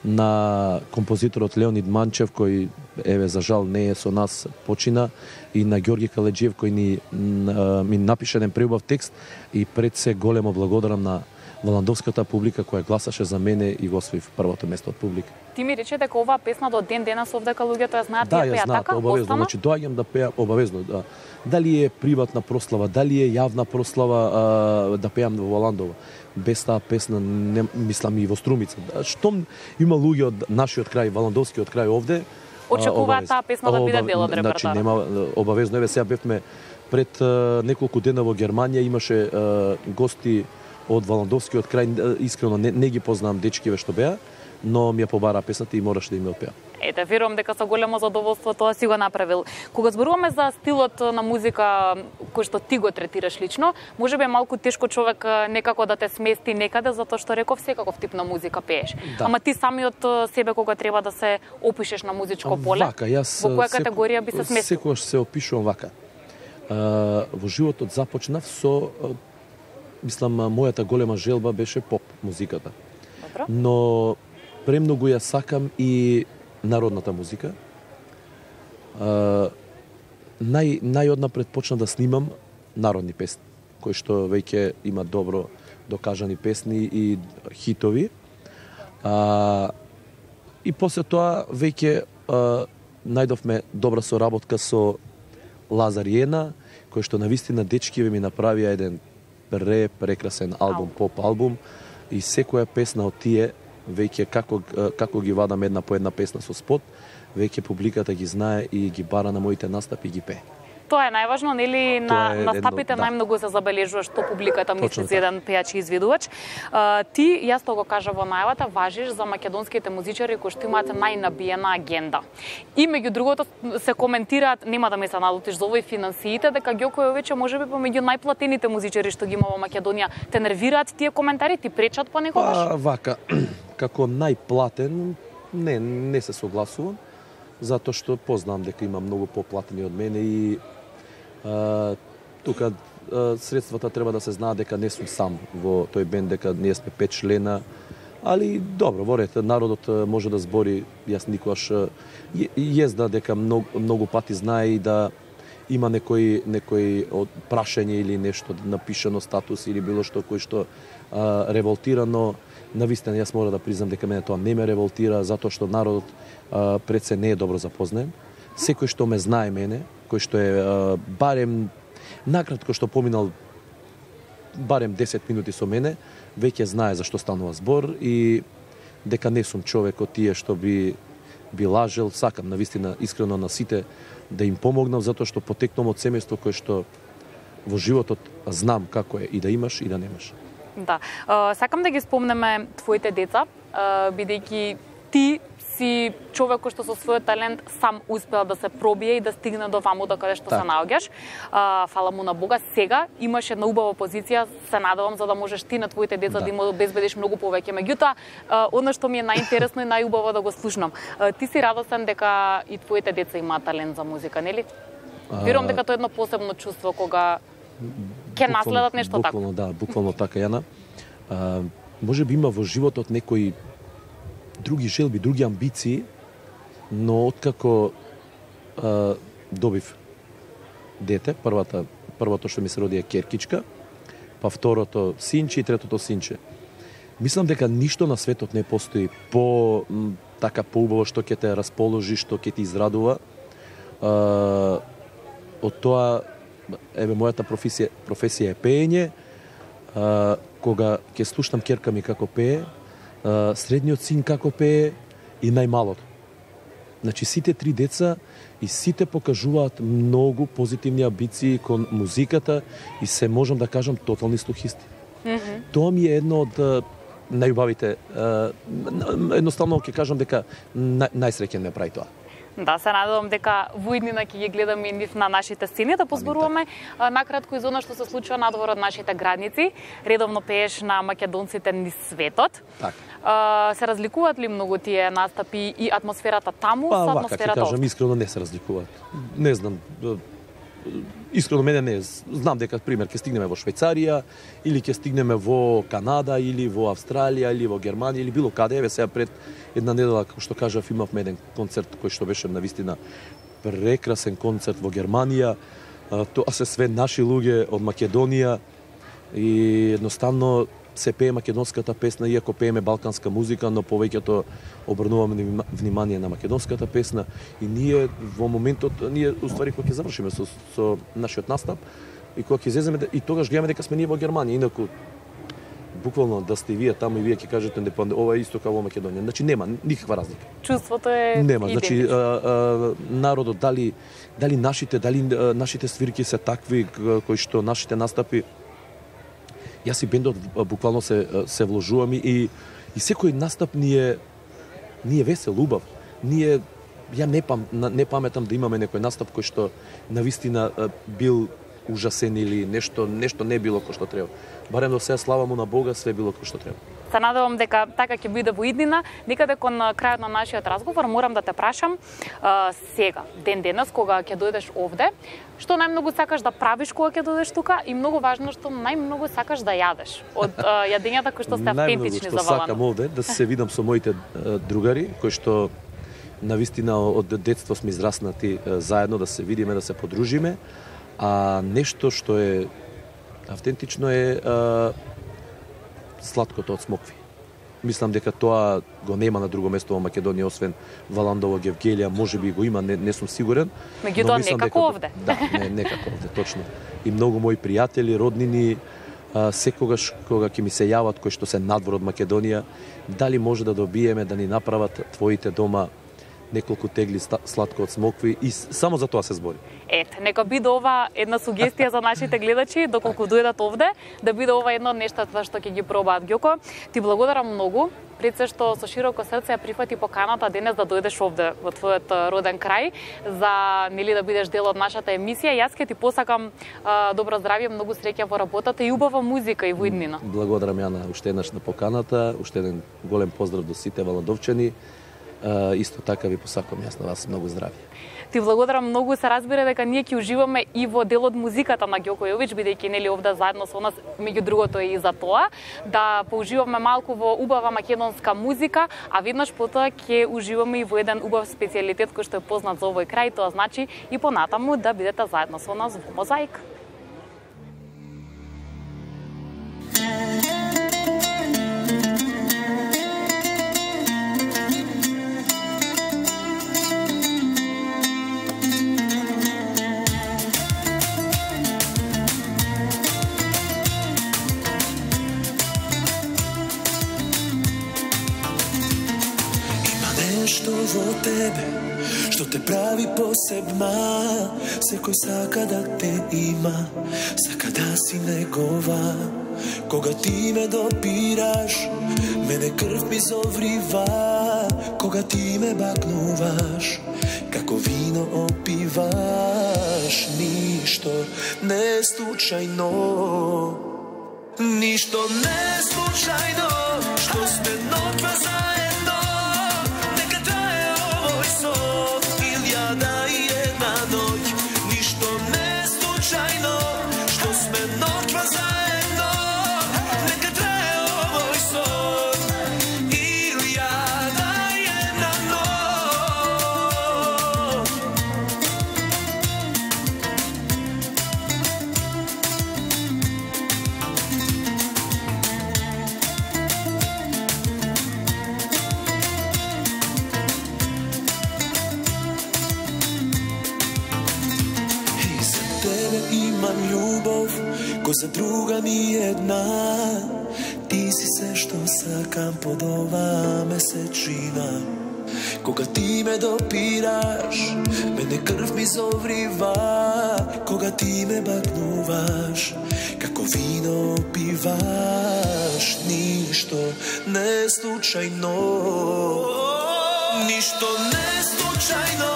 на композиторот Леонид Манчев, кој, еве, за жал не е со нас, почина, и на Ѓорги Каледжиев, кој ми напише еден преубав текст, и пред се големо благодарам на валандовската публика која гласаше за мене и го освоив првото место од публика. Ти ми рече дека оваа песна до ден денес овдека луѓето ја знаат, да, ја пеа така? Обавезно, значи доаѓам да пеам обавезно. Да. Дали е приватна прослава, дали е јавна прослава, да пеам во Валандово. Без таа песна, не, мислам и во Струмица. Штом има луѓе од нашиот крај, валандовскиот крај овде, очекуваат таа песна да биде дел од репертоарот. Значи нема обавезно. Еве сега бевме пред неколку дена во Германија, имаше гости од валандовскиот крај, искрено не ги познавам дечкиве што беа, но ми ја побара песната и мораше да им ја отпеа. Ете, верувам дека со големо задоволство тоа си го направил. Кога зборуваме за стилот на музика кој што ти го третираш лично, можеби е малку тешко човек некако да те смести некаде, затоа што реков секаков тип на музика пееш. Да. Ама ти самиот себе кога треба да се опишеш на музичко поле, вака, јас, во која категорија би се сместил? Секогаш се опишувам вака. Во животот започнав со мислам, мојата голема желба беше поп музиката. Добро. Но премногу ја сакам и народната музика. Најоднапред почна да снимам народни песни, кои што веќе има добро докажани песни и хитови. И после тоа веќе најдовме добра соработка со Лазар Јена, кој што навистина дечкиве ми направија еден прекрасен албум, поп албум, и секоја песна од тие веќе како ги вадам една по една песна со спот, веќе публиката ги знае и ги бара на моите настапи и ги пее. Тоа е најважно, нели, на настапите да. најмногу се забележува што публиката мисли за еден пејач и изведувач. Ти, јас тоа го кажа во најавата, важиш за македонските музичари кои што имаат најнабиена агенда. И меѓу другото се коментираат, нема да ме се налутиш за овој финансиите, дека Ѓоко Јовиче можеби помеѓу најплатените музичари што ги има во Македонија. Те нервираат тие коментари, ти пречат понекогаш? Вака, како најплатен, не се согласувам, затоа што познам дека има многу поплатени од мене и тука средствата треба да се знаат дека не сум сам во тој бенд, дека ние сме 5 члена, али добро, во ред, народот може да збори, јас никогаш језда дека многу пати знае и да има некој од прашање или нешто напишано статус или било што кој што револтира, но навистина јас мора да признам дека мене тоа не ме револтира, затоа што народот пред се не е добро запознаен. Секој што ме знае мене, кој што е барем накратко што поминал барем 10 минути со мене, веќе знае за што станува збор и дека не сум човек од тие што би лажел. Сакам навистина искрено на сите да им помогнам, затоа што потекнам од семејство кое што во животот знам како е и да имаш и да немаш. Да. Сакам да ги спомнеме твоите деца, бидејќи ти си човек кој што со својот талент сам успел да се пробие и да стигне до ваму до каде што се наоѓаш. Фала му на Бога. Сега имаш една убава позиција, се надевам, за да можеш ти на твоите деца да им обезбедиш многу повеќе. Меѓутоа, она што ми е најинтересно и најубаво да го слушнам. Ти си радосен дека и твоите деца имаат талент за музика, нели? Верувам дека тоа е едно посебно чувство кога ќе наследат нешто тако. Буквално, да, буквално така, Јана. Може би има во животот некои други желби, други амбиции, но откако добив дете, првото што ми се роди е керкичка, па второто синче и третото синче. Мислам дека ништо на светот не постои така поубаво што ќе те расположи, што ќе ти израдува. Од тоа, мојата професија е пеење. Кога ќе слушнам керка ми како пее, средниот син како пее и најмалото. Значи, сите три деца и сите покажуваат многу позитивни амбиции кон музиката и се можам да кажам тотални слухисти. Тоа ми е едно од најубавите, едноставно ќе кажам дека најсреќен ме прави тоа. Да, се надевам дека во иднина ќе ги гледаме и нив на нашите сцени, да позборуваме накратко и за она што се случува надвор од нашите градници. Редовно пееш на македонците низ светот. Така. Се разликуваат ли многу тие настапи и атмосферата таму со атмосферата овде? Ќе кажам, искрено не се разликуваат. Не знам, искрено мене не. Знам дека, пример, ќе стигнеме во Швајцарија, или ќе стигнеме во Канада, или во Австралија, или во Германија, или било каде. Еве сега пред една недела, како што кажав, имавме еден концерт кој што беше навистина прекрасен концерт во Германија. Тоа се све наши луѓе од Македонија и едноставно се пее македонската песна, иако пееме балканска музика, но повеќето обрнуваме внимание на македонската песна и ние во моментот, ние уствари кога ќе завршиме со нашиот настап и кога ќе излеземе и тогаш гледаме дека сме ние во Германија, инаку буквално да сте вие таму и вие ќе кажете дека ова е исто како во Македонија. Значи нема никаква разлика. Чувството е нема. Значи народот дали нашите свирки се такви кои што нашите настапи. Јас и бендот буквално се вложувам и секој настап ни е весел, убав. Ја не паметам да имаме некој настап кој што навистина бил ужасен или нешто не било кој што треба. Барем до сега, слава му на Бога, све било кој што треба. Се надевам дека така ќе биде во иднина. Некаде кон крајот на нашиот разговор морам да те прашам сега, ден денес кога ќе дојдеш овде, што најмногу сакаш да правиш кога ќе дојдеш тука и многу важно што најмногу сакаш да јадеш од јадењата кои што сте автентични за Најмногу што Валандово. сакам овде да се видам со моите другари кои што навистина од детство сме израснати заедно, да се видиме, да се подружиме, а нешто што е автентично е сладкото од смокви. Мислам дека тоа го нема на друго место во Македонија освен Валандово, Гевгелија, можеби го има, не сум сигурен. Меѓутоа некако овде. Да, некако овде, точно. И многу мои пријатели, роднини, секогаш кога ќе ми се јават кои што се надвор од Македонија, дали може да добиеме да ни направат твоите дома неколку тегли сладко од смокви и само за тоа се збори. Ете, нека биде ова една сугестија за нашите гледачи, доколку дојдат овде, да биде ова едно од нештата што ќе ги пробаат. Ѓоко, ти благодарам многу, пред се што со широко срце ја прифати поканата денес да дојдеш овде во твојот роден крај, за нели да бидеш дел од нашата емисија. Јас ќе ти посакам добро здравје, многу среќа во работата и убава музика и во иднина. Благодарам Јана уште еднаш на поканата, уште еден голем поздрав до сите валандовчани. Исто така ви посакувам јас на вас многу здравје. Ти благодарам многу, се разбира дека ние ќе уживаме и во дел од музиката на Ѓоко Јович, бидејќи нели овде заедно со нас, меѓу другото и за тоа, да поуживаме малку во убава македонска музика, а веднаш потоа ќе уживаме и во еден убав специјалитет кој што е познат за овој крај, тоа значи и понатаму да бидете заедно со нас во Мозаик. Нешто во тебе што те прави посебна, секој сака да те има, сака да си негова. Кога ти ме допираш, мене крв ми зоврива, кога ти ме бакнуваш, како вино опиваш. Ништо не случајно, ништо не случајно, што сме ноќва заедно. Илјада и една ноќ, ништо не случајно, што сме ноќва заедно. Нека трае овој сон, илјада и една ноќ. Имам љубов, кој за друга ни една. Ти си се што сакам под ова месечина. Кога ти ме допираш, мене крв ми зоврива. Кога ти ме бакнуваш, како вино пиваш. Ништо не случајно, ништо не случајно,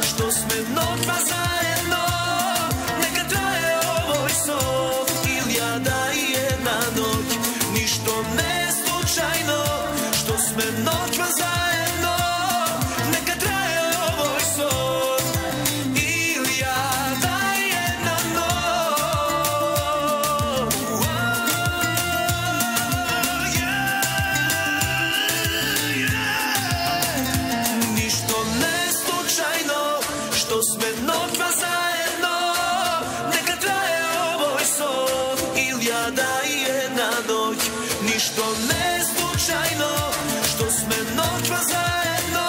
што сме ноќва заедно. Илјада и една ноќ, ништо не случајно, што сме ноќва заедно. Нека трае овој сон, илјада и една ноќ. Ништо не случајно, што сме ноќва заедно. Нека трае овој сон, илјада и една ноќ, ништо не случајно, што сме ноќва заедно.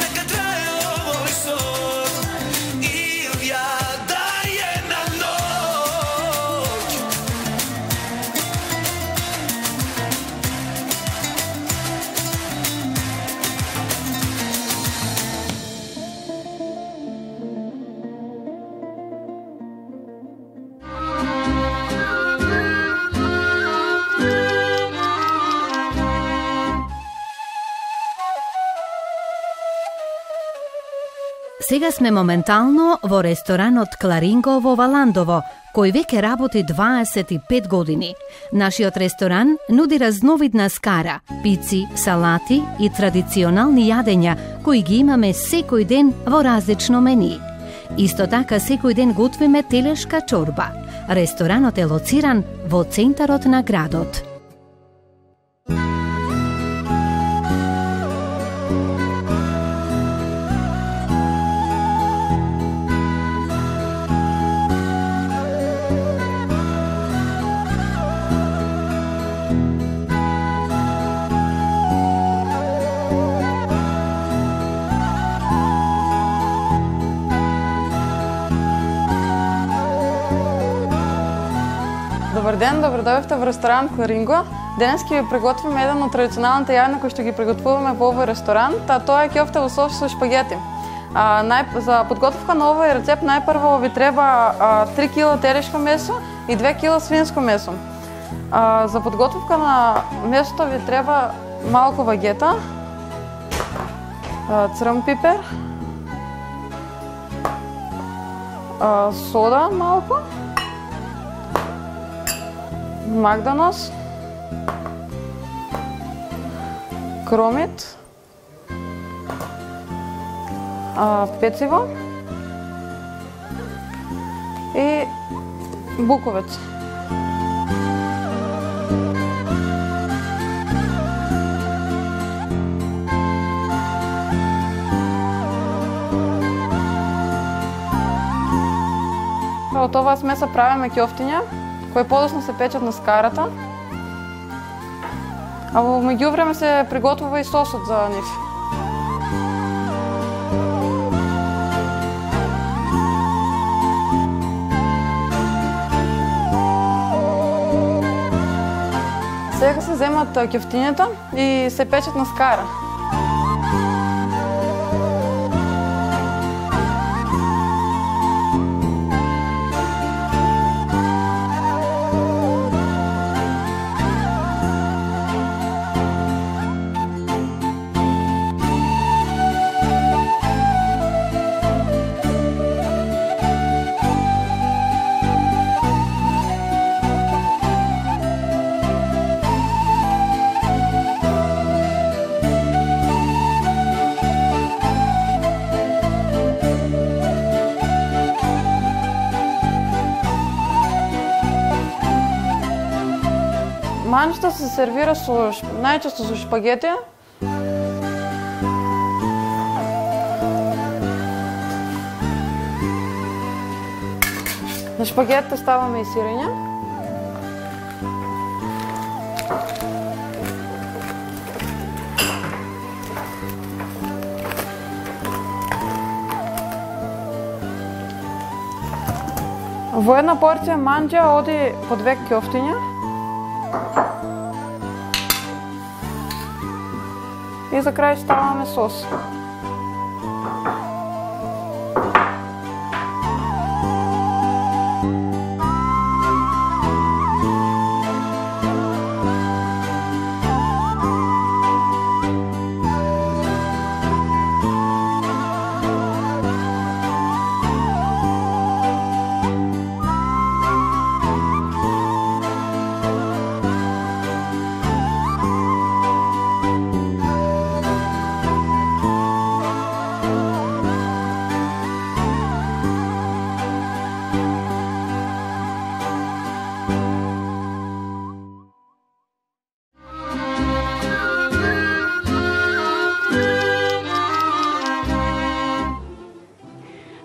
Нека трае овој сон, илјада и една ноќ. сега сме моментално во ресторанот Кларинго во Валандово, кој веќе работи 25 години. Нашиот ресторан нуди разновидна скара, пици, салати и традиционални јадења кои ги имаме секој ден во различно мени. Исто така секој ден готвиме телешка чорба. Ресторанот е лоциран во центарот на градот. Добар ден, добро дојдовте во ресторан Кларинго. Денес ќе ви приготвиме еден од традиционалните јадења кои што ги приготвуваме во овој ресторант, а тоа е ќофтево сос со шпагети. За подготовка на овој рецепт најпрво ви треба 3 кг телешко месо и 2 кг свинско месо. За подготовка на месото ви треба малку вагета, црн пипер, сода малку, магданос, кромит, пecivo и буковец. Од оваа смеса правиме ќофтиња кои подоцна се печат на скарата, а во меѓувреме се приготвува и сосот за нив. Сега се земат ќофтињата и се печат на скара. Манчето се сервира најчесто со шпагети. На шпагетите ставаме и сирење. Во една порција манџа оди по 2 ќофтиња. И за крај ставаме сос.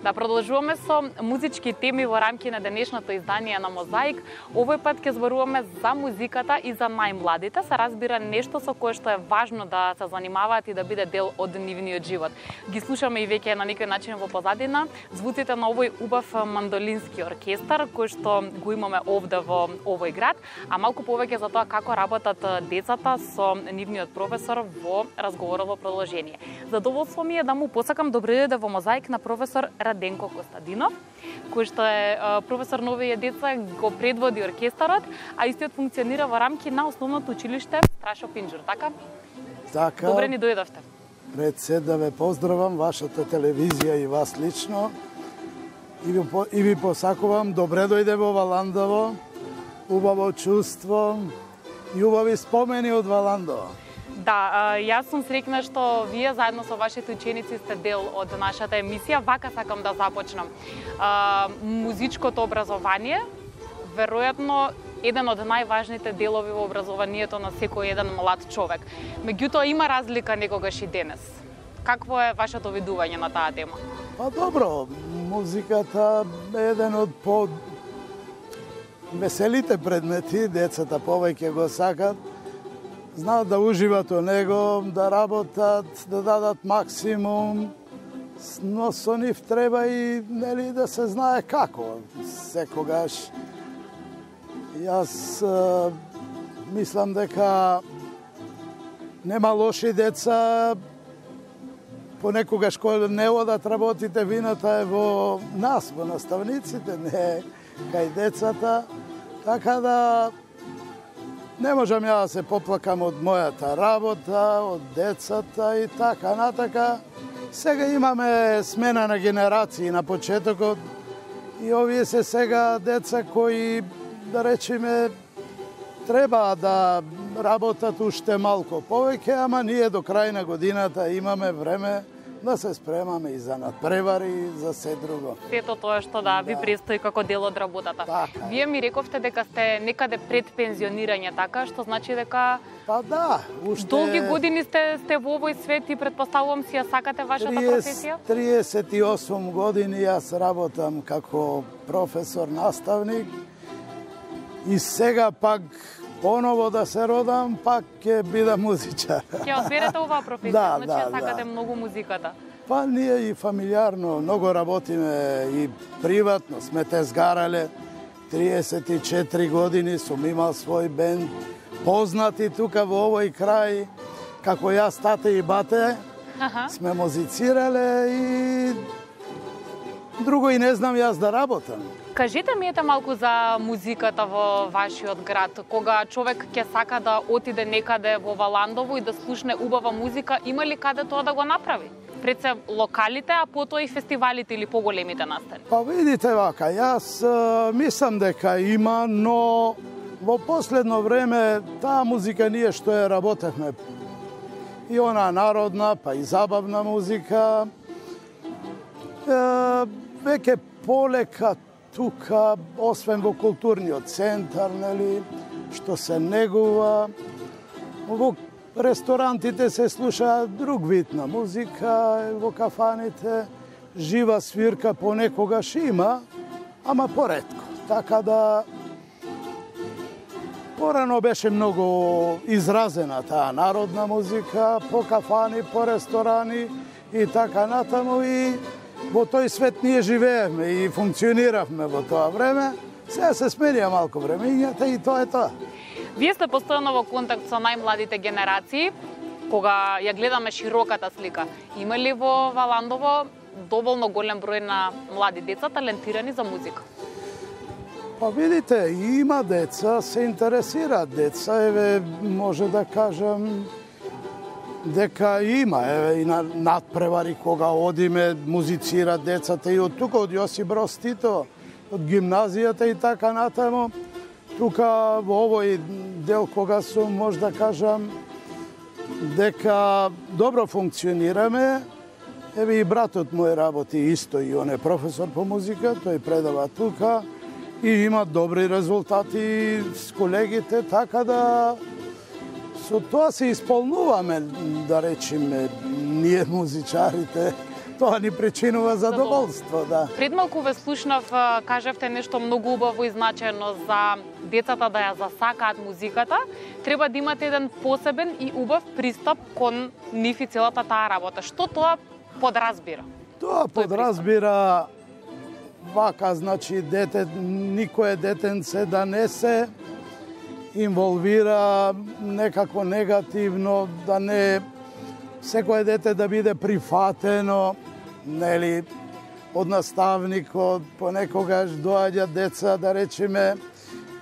Да продолжуваме со музички теми во рамки на денешното издание на Мозаик. Овој пат ќе зборуваме за музиката и за најмладите. Се разбира нешто со кое што е важно да се занимаваат и да биде дел од нивниот живот. Ги слушаме и веќе на некој начин во позадина звуците на овој убав мандолински оркестар кој што го имаме овде во овој град, а малку повеќе за тоа како работат децата со нивниот професор во разговорот во продолжение. Задоволство ми е да му посакам добро дојде во Мозаик на професор Раденко Костадинов, кој што е професор на овие деца, го предводи оркестарот, а истиот функционира во рамки на основното училиште Страшо Пинџур, така? Така. Добре ни дојдовте. Пред се да ве поздравам, вашата телевизија и вас лично. И ви посакувам добре дојде во Валандово, убаво чувство и убави спомени од Валандово. Да, јас сум среќна што вие заедно со вашите ученици сте дел од нашата емисија. Вака сакам да започнам. Музичкото образование, веројатно, еден од најважните делови во образованието на секој еден млад човек. Меѓутоа, има разлика некогаш и денес. Какво е вашето видување на таа тема? Па добро, музиката е еден од веселите предмети, децата повеќе го сакат, знаат да уживат во него, да работат, да дадат максимум, но со нив треба и да се знае како. Секогаш јас мислам дека нема лоши деца, понекогаш кога не одат работите, вината е во нас, во наставниците, не кај децата, така да не можам ја да се поплакам од мојата работа, од децата и така натака. Сега имаме смена на генерации на почетокот и овие се сега деца кои, да речеме, треба да работат уште малку повеќе, ама ние до крај на годината имаме време да се спремаме и за надпревари и за се друго. Сето тоа што ви престои како дел од работата. Така. Вие ми рековте дека сте некаде пред пензионирање, така, што значи дека Па да, уште долги години сте во овој свет и предпоставувам си ја сакате вашата професија? 38 години јас работам како професор, наставник и сега пак поново да се родам, пак ќе бидам музичар. Ќе одберете оваа професија, значи ја сакате многу музиката. Па ние и фамилиарно многу работиме и приватно, сме те сгарале. 34 години сум имал свој бенд, познати тука во овој крај, како јас, тате и бате, сме музицирале и друго и не знам јас да работам. Кажете ми малку за музиката во вашиот град. Кога човек ќе сака да отиде некаде во Валандово и да слушне убава музика, има ли каде тоа да го направи? Пред се локалите, а потоа и фестивалите или поголемите настани? Па видите вака, јас мислам дека има, но во последно време таа музика ние што ја работевме, и она народна, па и забавна музика, веќе полека тука, освен во културниот центар, нели, што се негува. Во ресторантите се слуша друг вид на музика, во кафаните жива свирка понекогаш има, ама поретко. Така да порано беше многу изразена таа народна музика, по кафани, по ресторани и така натаму, и во тој свет ние живеевме и функциониравме во тоа време. Сега се сменија малку времењата и тоа е тоа. Вие сте постојано во контакт со најмладите генерации, кога ја гледаме широката слика. Има ли во Валандово доволно голем број на млади деца талентирани за музика? Па видите, има деца, се интересираат деца, еве може да кажам дека има, еве и на надпревари кога одиме, музицираат децата и од тука, од Јосип Броз Тито, од гимназијата и така натаму. Тука во овој дел кога сум, може да кажам дека добро функционираме. Еве и братот мој работи исто и он е професор по музика, тој предава тука и има добри резултати с колегите, така да со тоа се исполнуваме, да речеме, ние музичарите. Тоа ни причинува задоволство, да. Пред малку ве слушнав, кажавте нешто многу убаво и значајно за децата да ја засакаат музиката. Треба да имате еден посебен и убав пристап кон нив и целата таа работа. Што тоа подразбира? Тоа подразбира вака, значи, никое детенце да не се инволвира некако негативно, да не секое дете да биде прифатено, нели, од наставникот, понекогаш доаѓаат деца, да речеме,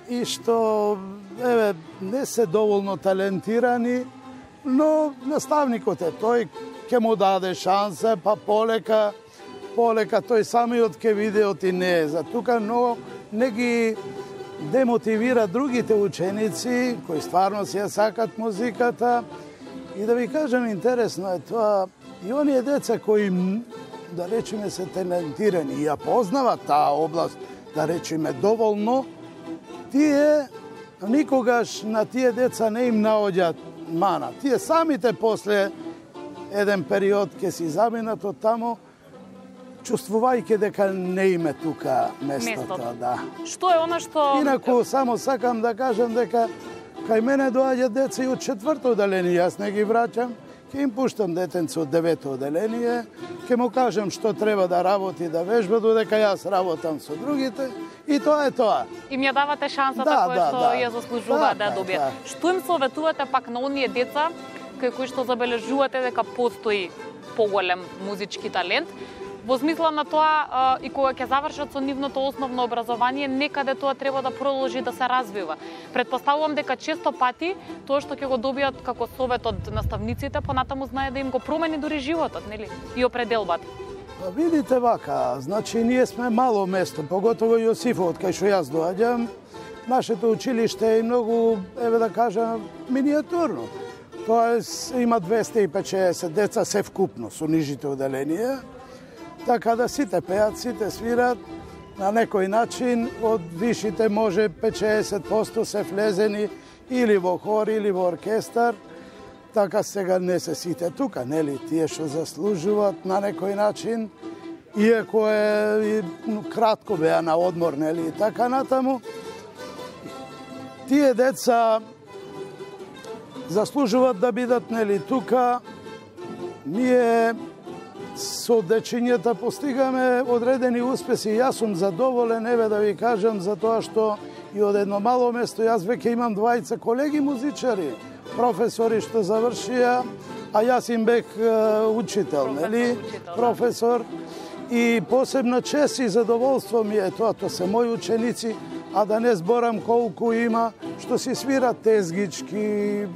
и што, еве, не се доволно талентирани, но наставникот е тој, ќе му даде шанса, па полека тој самиот ќе види оти не е за тука, но не ги демотивира другите ученици кои стварно си ја сакат музиката. И да ви кажам, интересно е тоа, и оние деца кои, да речеме, се талентирани и ја познават таа област, да речеме, доволно, тие никогаш на тие деца не им наоѓаат мана. Тие самите после еден период ќе си заминат од тамо, чувствувајќи дека не име тука местото. Да. Што е она што... Инаку, само сакам да кажам дека кај мене доаѓа деца и од 4-то оделение, јас не ги враќам, ќе им пуштам детенце од 9-то оделение, ќе му кажам што треба да работи, да вежба, додека јас работам со другите, и тоа е тоа. Им ја давате шансата која што ја заслужуваат да добијат. Што им советувате пак на оние деца кои што забележувате дека постои поголем музички талент, во смисла на тоа и кога ќе завршат со нивното основно образование, некаде тоа треба да продолжи да се развива. Претпоставувам дека често пати тоа што ќе го добијат како совет од наставниците, понатаму знае да им го промени дури животот, нели? И определбата. Видите вака, значи ние сме мало место, поготово Јосифов, кај што јас доаѓам. Нашето училиште е многу, еве да кажам, миниатурно. Тоест има 250 деца се вкупно со нижите оделенија. Така да сите пеат, сите свират, на некој начин од вишите може 50% се влезени или во хор, или во оркестар. Така сега не се сите тука, нели? Тие што заслужуваат на некој начин, иако е кратко беа на одмор, нели? И така натаму. Тие деца заслужуваат да бидат, нели, тука. Ние со дечињата постигаме одредени успеси. Јас сум задоволен, еве да ви кажам, за тоа што и од едно мало место јас веќе имам 20 колеги музичари, професори што завршија, а јас им бех учител, нели? Професор. И посебна чест и задоволство ми е тоа, тоа се мои ученици, а да не зборам колку има што си свират тезгички,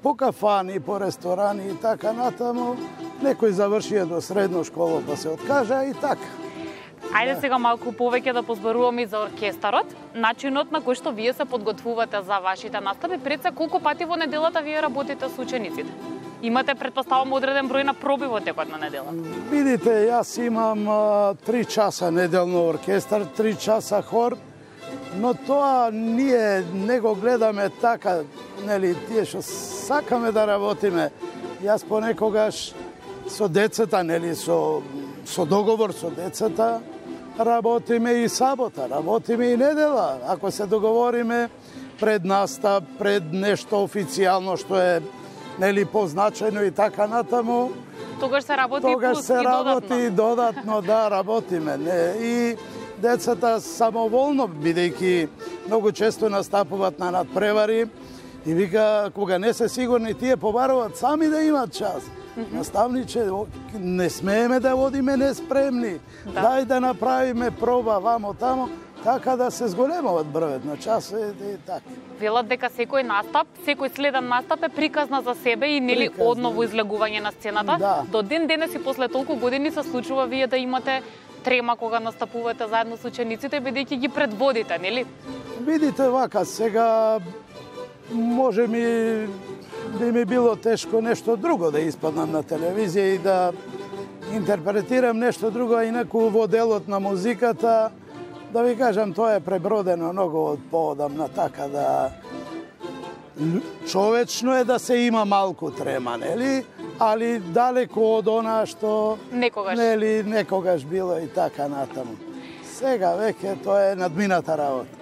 по кафани, по ресторани и така натаму. Некој завршија до средно школа па се откажа и така. Ајде сега малку повеќе да позборуваме и за оркестарот, начинот на кој што вие се подготвувате за вашите настапи. Пред се, колку пати во неделата вие работите со учениците? Имате, претпоставам, одреден број на проби во текот на недела? Видите, јас имам 3 часа неделно оркестар, 3 часа хор, но тоа ние не го гледаме така, нели, тие што сакаме да работиме. Јас понекогаш со децата, нели, со договор со децата, работиме и сабота, работиме и недела. Ако се договориме пред настап, пред нешто официјално што е, нели, позначено и така натаму, тогаш се работи тогаш се работи додатно, да, работиме. Не. И децата самоволно, бидејќи многу често настапуваат на надпревари, и вика, кога не се сигурни, тие побаруваат сами да имат час. Наставниче, не смееме да водиме неспремни. Дај да направиме проба вамо тамо, така да се зголемуваат бројот на часове и така. Велат дека секој настап, секој следен настап е приказна за себе и нели одново излегување на сцената. Да. До ден денес и после толку години се случува вие да имате трема кога настапувате заедно со учениците, бидејќи ги предводите, нели? Видите вака, сега може би ми било тешко нешто друго да испаднам на телевизија и да интерпретирам нешто друго, а инаку во делот на музиката, да ви кажам, тоа е пребродено многу од поодамна, така да човечно е да се има малку трема, нели? Али далеко од она што некогаш било и така натаму. Сега веќе тоа е надмината работа.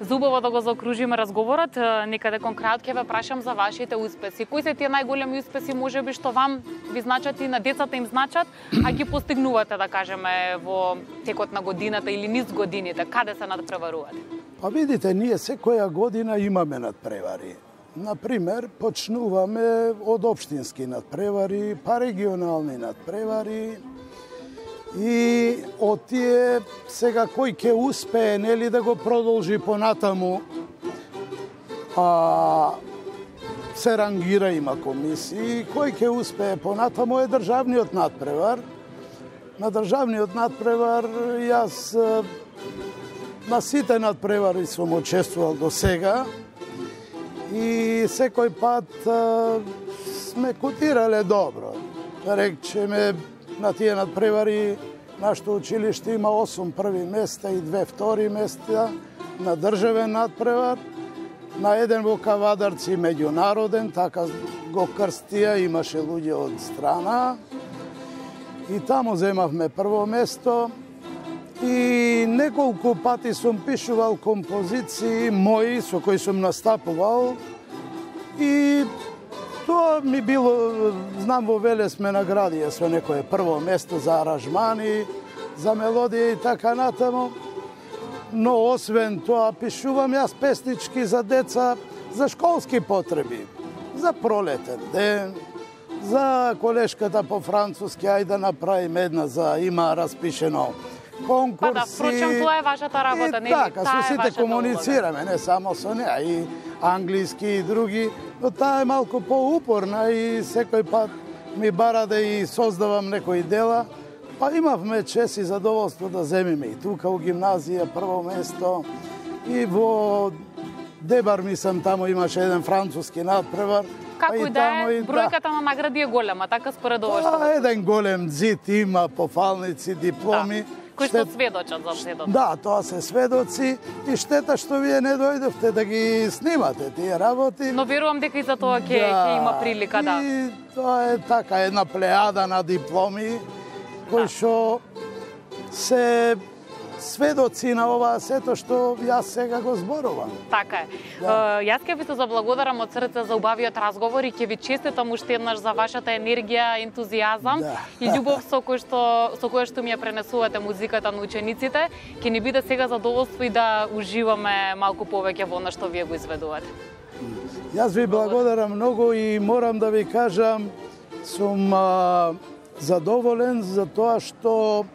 Зубаво да го заокружиме разговорот, некаде кон крајот ќе ве прашам за вашите успеси. Кои се тие најголеми успеси можеби што вам ви значат и на децата им значат, а ги постигнувате, да кажеме, во текот на годината или низ годините? Каде се надпреварувате? Па видите, ние секоја година имаме надпревари. Например, почнуваме од општински надпревари, па регионални надпревари, и од тие сега кој ќе успее, нели, да го продолжи понатаму се рангира, има комисии, кој ќе успее понатаму е државниот надпревар. На државниот надпревар јас на сите надпревари сум учествувал до сега и секој пат сме котирале добро. Речеме, на тие надпревари нашето училиште има 8 први места и 2 втори места на државен надпревар. На еден во Кавадарци меѓународен, така го крстија, имаше луѓе од страна. И таму земавме прво место. И неколку пати сум пишувал композиции мои со кои сум настапувал. И тоа ми било, знам во Веле сме наградија со некое прво место за аранжмани, за мелодија и така натаму. Но освен тоа пишувам јас песнички за деца, за школски потреби, за пролетен ден, за колешката по француски, ајде да направиме една, за има распишено конкурси. Па да, впрочем, тоа е вашата работа, не ли? Така, со сите комуницираме, не само со неа, и англиски и други, но таа е малку поупорна и секој пат ми бара да и создавам некои дела. Па имавме чест и задоволство да земиме и тука у гимназија прво место и во Дебар, мислам, таму имаше еден француски надпревар. Како и да е, бројката на награди е голема, така според ова што... Еден голем зид има, пофалници, дипломи. Кои што сведочат за сведоци. Да, тоа се сведоци и штета што вие не дојдовте да ги снимате тие работи. Но верувам дека и за тоа ќе има прилика, да. И тоа е така една плејада на дипломи кои што се сведоци на ова сето што јас сега го зборувам. Така е. Јас ќе ви се заблагодарам од срце за убавиот разговор и ќе ви честитам уште еднаш за вашата енергија, ентузијазам и љубов со која што ми ја пренесувате музиката на учениците. Ќе ни биде сега задоволство и да уживаме малку повеќе во она што вие го изведувате. Јас ви благодарам многу и морам да ви кажам, сум задоволен за тоа што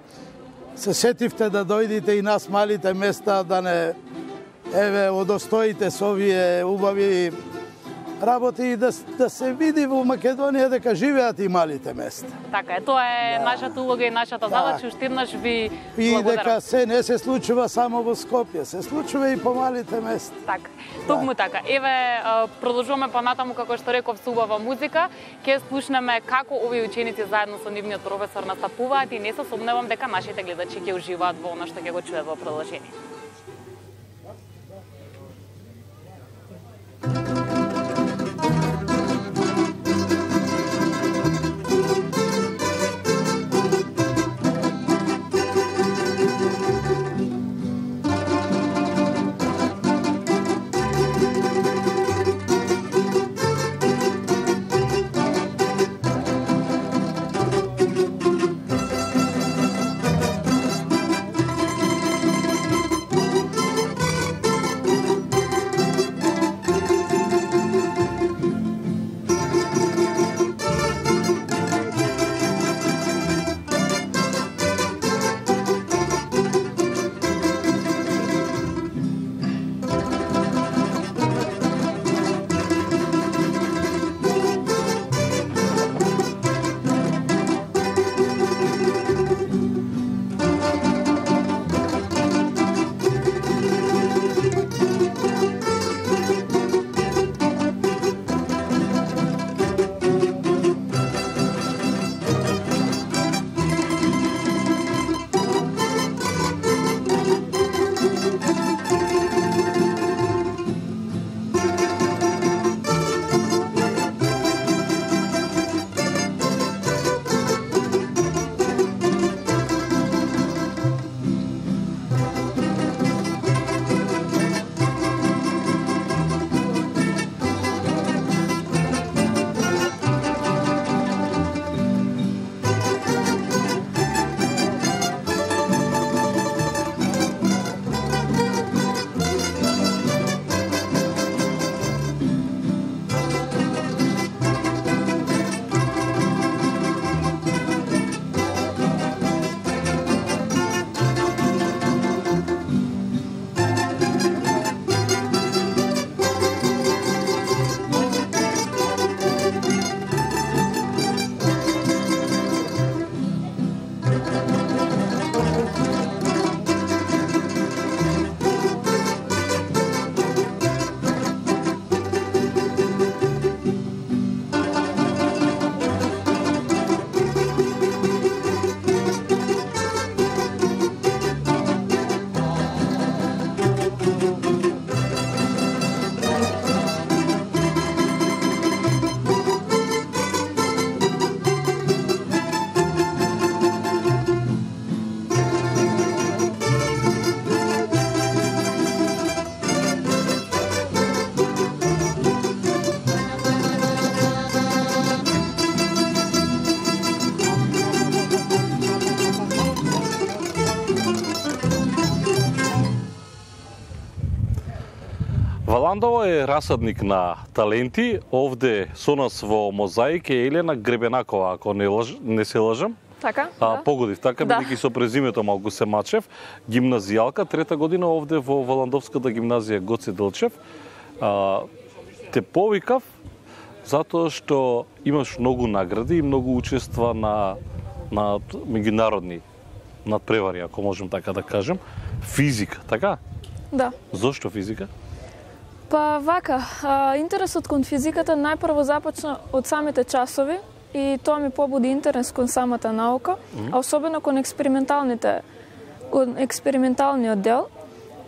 се сетивте да дојдите и нас малите места да не удостоите со овие убави работи и да се види во Македонија дека живеат и малите места. Така е, тоа е нашата улога и нашата задача, уште еднаш ви и благодарам. Дека се не се случува само во Скопје, се случува и по малите места. Така, токму така. Еве, продолжуваме понатаму, како што реков, со убава музика. Ќе слушнеме како овие ученици заедно со нивниот професор настапуваат и не се сомневам дека нашите гледачи ќе уживаат во она што ќе го чуат во продолжение. Валандово е расадник на таленти. Овде со нас во Мозаик е Елена Гребенакова, ако не се лажам. Така, да. Погодив, така, бидејќи со презимето малку се мачев. Гимназијалка, трета година овде во Валандовската гимназија Гоце Делчев. Те повикав затоа што имаш многу награди и многу учества на меѓународни надпревари, ако можем така да кажем. Физика, така? Да. Зошто физика? Па вака, интересот кон физиката најпрво започна од самите часови и тоа ми побуди интерес кон самата наука, а особено кон експерименталниот дел,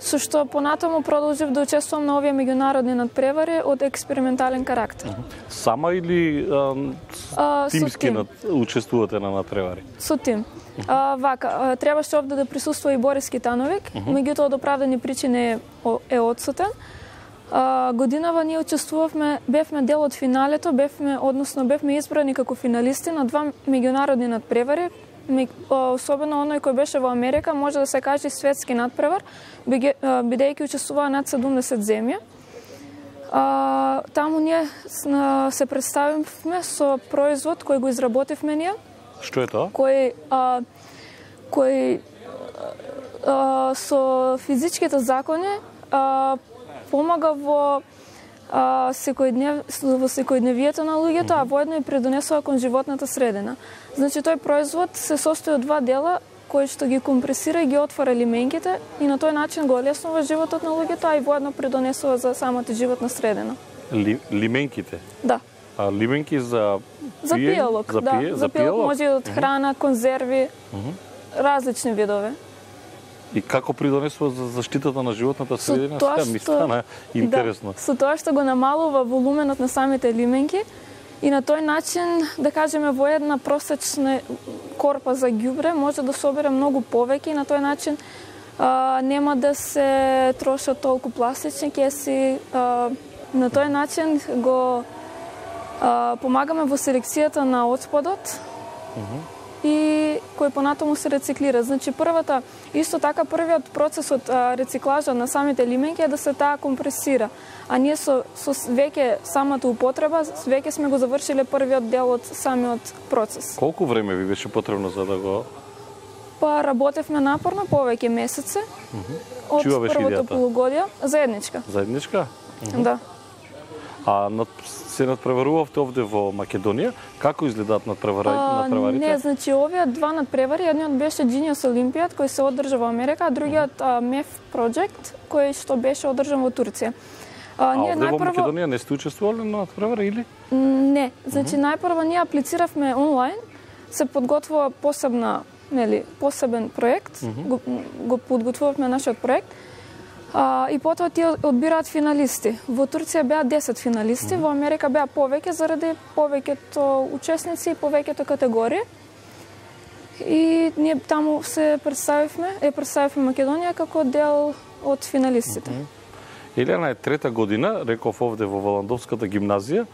со што понатаму продолжив да учествувам на овие меѓународни надпревари од експериментален карактер. Сама или тимски учествувате на надпревари? Со тим. Вака, требаше овде да присуствува и Борис Китановик, меѓутоа од оправдани причини е одсутен. Годинава ние учествувавме, бевме дел од финалето, бевме избрани како финалисти на два меѓународни надпревари, особено оној кој беше во Америка, може да се каже светски надпревар, бидејќи учествуваа над 70 земји. Таму ние се представивме со производ кој го изработивме ние. Што е тоа? Кој со физичките закони помага во секојдневието на луѓето, а воедно и придонесува кон животната средина. Значи, тој производ се состои од два дела, кои што ги компресира и ги отвора лименките и на тој начин го олеснува животот на луѓето, а и воедно придонесува за самата животна средина. Лименките? Да. Лименки за пијалок, да. За пијалок може од храна, конзерви, различни видови. И како придонесува за заштитата на животната средина? Сега ми стана интересно. Да, со тоа што го намалува волуменот на самите лименки и на тој начин, да кажеме, во една просечна корпа за ѓубре може да собере многу повеќе и на тој начин нема да се трошат толку пластични кеси. На тој начин го помагаме во селекцијата на отпадот и кој понатаму се рециклира. Значи, првиот процес од рециклажа на самите лименки е да се таа компресира. А ние со веќе самата употреба, веќе сме го завршиле првиот дел од самиот процес. Колку време ви беше потребно за да го... Па работевме напорно повеќе месеци од првото полугодие. Заедничка. Заедничка? Да. Се надпреварувавте овде во Македонија. Како изгледаат надпреварите? Не, значи овие два надпревари, едниот беше Genius Olympiad кој се одржа во Америка, а другиот MEF Project кој што беше одржан во Турција. Овде во Македонија не сте учествувале на надпревари или? Не, значи најпрво ние аплициравме онлайн, се подготвува посебен проект, го подготвувавме нашиот проект. И потоа тие одбираат финалисти. Во Турција беа 10 финалисти, во Америка беа повеќе заради повеќето учесници и повеќето категории. И ние таму представивме Македонија како дел од финалистите. Елена е трета година, реков овде во Валандовската гимназија.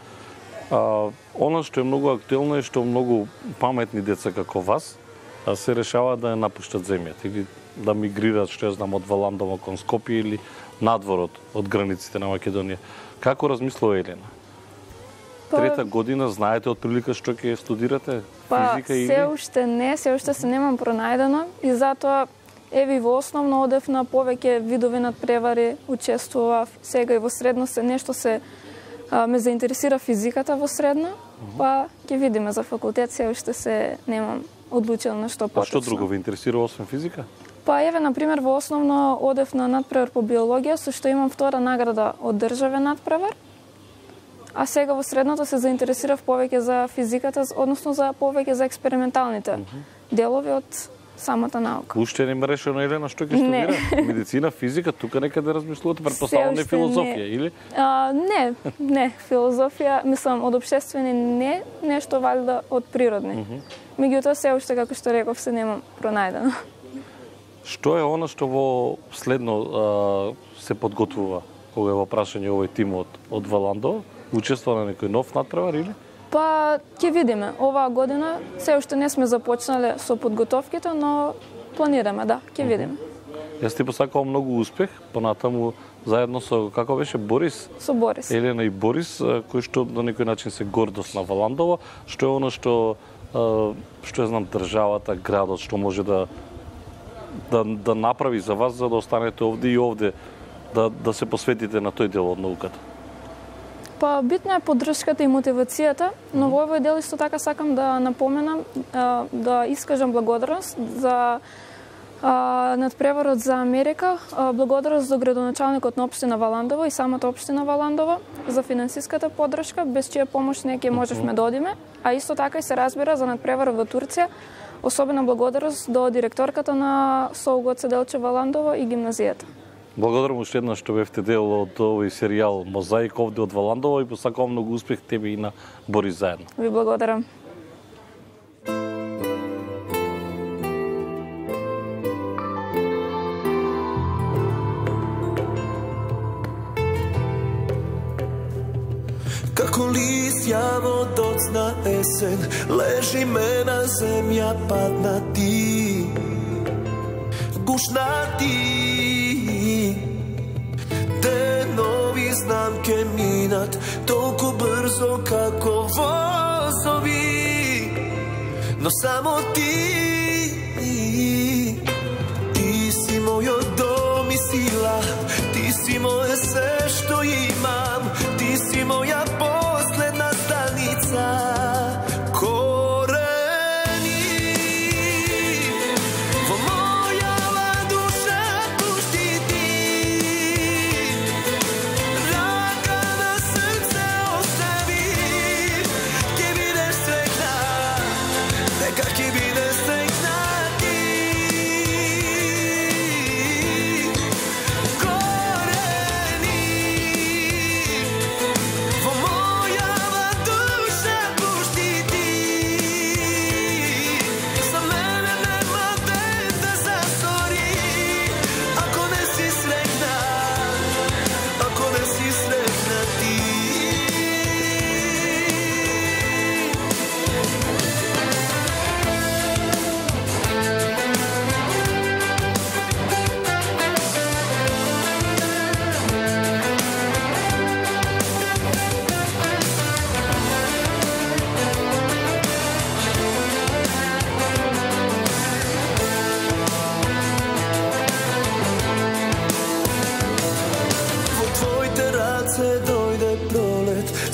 Она што е многу актуелно е што многу паметни деца како вас се решаваат да ја напуштат земјата или да мигрираат, што ја знам, од Валандово кон Скопје или надворот од границите на Македонија. Како размислува Елена? Трета година, знаете од прилика што ќе студирате? Физика или? Се уште се немам пронајдено и затоа еви во основно одев на повеќе видови надпревари, учествував сега и во средно ме заинтересира физиката во средно, па ќе видиме за факултет, се уште се немам одлучено на што поточно. А што друго ви интересира освен физика? Па еве, например, во основно одев на надпревар по биологија, со што имам втора награда од државен надпревар, а сега во средното се заинтересирав повеќе за физиката, односно повеќе за експерименталните делови од самата наука. Уште не ме решено, Елена, што ќе студира? Медицина, физика, тука некаде размислувате, претпоставувам не филозофија, или? Не, филозофија, мислам, од општествени не, нешто валјда од природни. Меѓутоа, се уште, како што реков, се немам пронајдено. Што е она што во следно се подготвува, кога е во прашање овој тим од Валандово? Учествува на некој нов надпревар, или? Па, ќе видиме. Оваа година се уште не сме започнале со подготовките, но планираме, да, ќе видиме. Јас ти посакувам многу успех, понатаму заедно со, како беше, Борис? Со Борис. Елена и Борис, кои што на некој начин се гордост на Валандово, што е оно што ја знам, државата, градот, што може да направи за вас, за да останете овде и овде, да се посветите на тој дел од науката? Па битна е поддршката и мотивацијата, но во овој дел исто така сакам да напоменам, да искажам благодарност за надпреварот за Америка, благодарност за градоначалникот на општина Валандово и самата општина Валандово за финансиската поддршка, без чија помош не ќе можевме да одиме, а исто така и се разбира за надпреварот во Турција, особена благодарност до директорката на СОУ Гоце Делчев Валандово и гимназијата. Благодарам уште еднаш што бевте дел од овој серијал Мозаик овде од Валандово и посакувам многу успех тебе и на Борис заедно. Ви благодарам. Како листја во доцна есен, лежи ме на земја паднати, гушнати. Денови знам ке минат толку брзо како возови, но само ти си мојот дом и сила, ти си моје се што имам, ти си моја последна станица.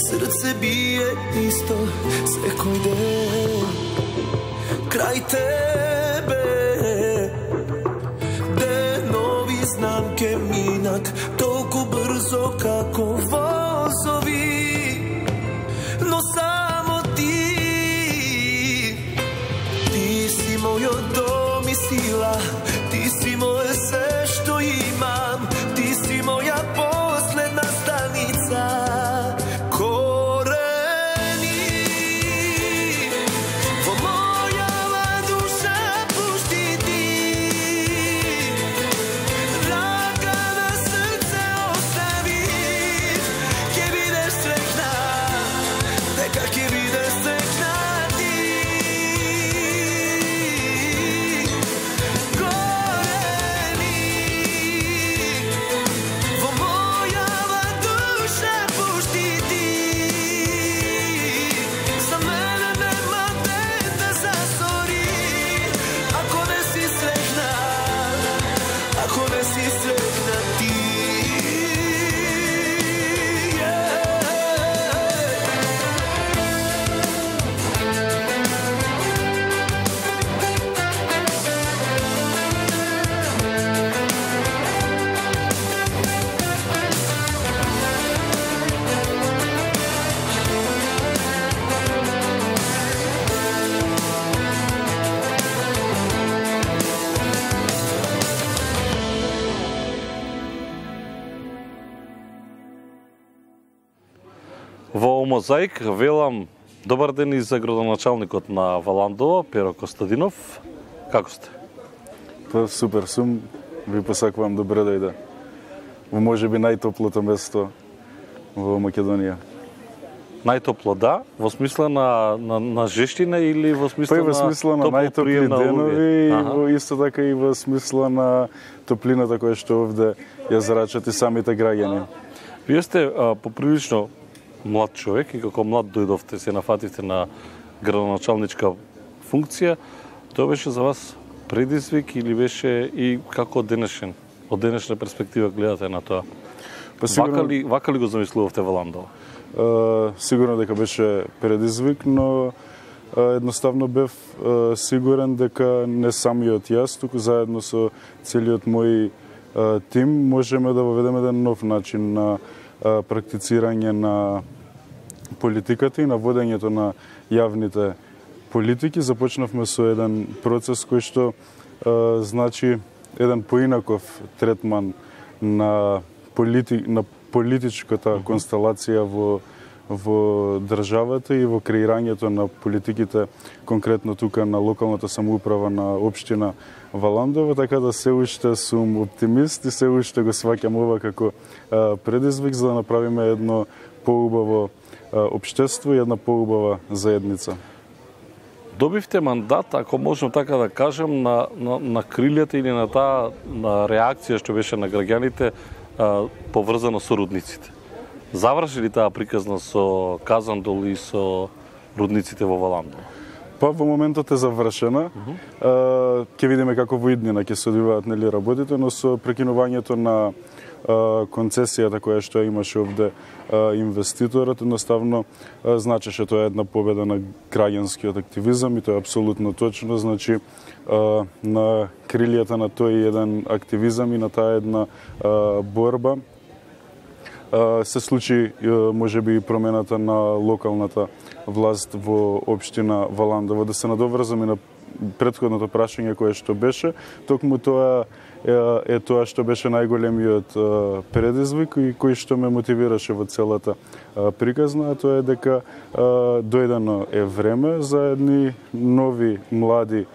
Срце бие исто секој ден крај тебе. Денови знам ке минат толку брзо како возови, но само ти си мојот дом и сила, ти си моје се што имам, ти си моја последна станица. Во Мозаик велам добар ден и за градоначалникот на Валандово, Перо Костадинов. Како сте? Па супер сум, ви посакувам добре дојде во можеби најтоплото место во Македонија. Најтопло да, во смисла на жештина или во смисла Па и во смисла на најтопли денови и исто така и во смисла на топлината која што овде ја зарачат и самите граѓани. Вие сте поприлично млад човек и како млад дојдовте, се нафативте на градоначалничка функција. Тоа беше за вас предизвик или беше и како од денешна перспектива гледате на тоа? Па сигурно... Вака ли го замислувавте во Ландово? Сигурно дека беше предизвик, но едноставно бев сигурен дека не самиот јас, туку заедно со целиот мој тим можеме да воведеме еден нов начин на практицирање на политиката и на водењето на јавните политики. Започнавме со еден процес кој што значи еден поинаков третман на политичката констелација во државата и во креирањето на политиките, конкретно тука на локалната самоуправа на општина Валандово, така да се уште сум оптимист и се уште го сваќам ова како предизвик за да направиме едно поубаво општество и една поубава заедница. Добивте мандат, ако можам така да кажем, на крилјата или на таа реакција што беше на граѓаните поврзано со рудниците. Заврши ли таа приказна со Казандол и со рудниците во Валандово? Па во моментот е завршена. Ќе видиме како во иднина ќе се одвиваат нели работите, но со прекинувањето на концесијата која што имаше овде инвеститорот, едноставно значеше тоа една победа на граѓанскиот активизам и тоа е апсолутно точно, значи на крилјата на тој еден активизам и на таа една борба се случи можеби и промената на локалната власт во општина Валандово. Да се надоврзам и на претходното прашање кое што беше, токму тоа е тоа што беше најголемиот предизвик и кој што ме мотивираше во целата приказна, а тоа е дека дојдено е време за едни нови млади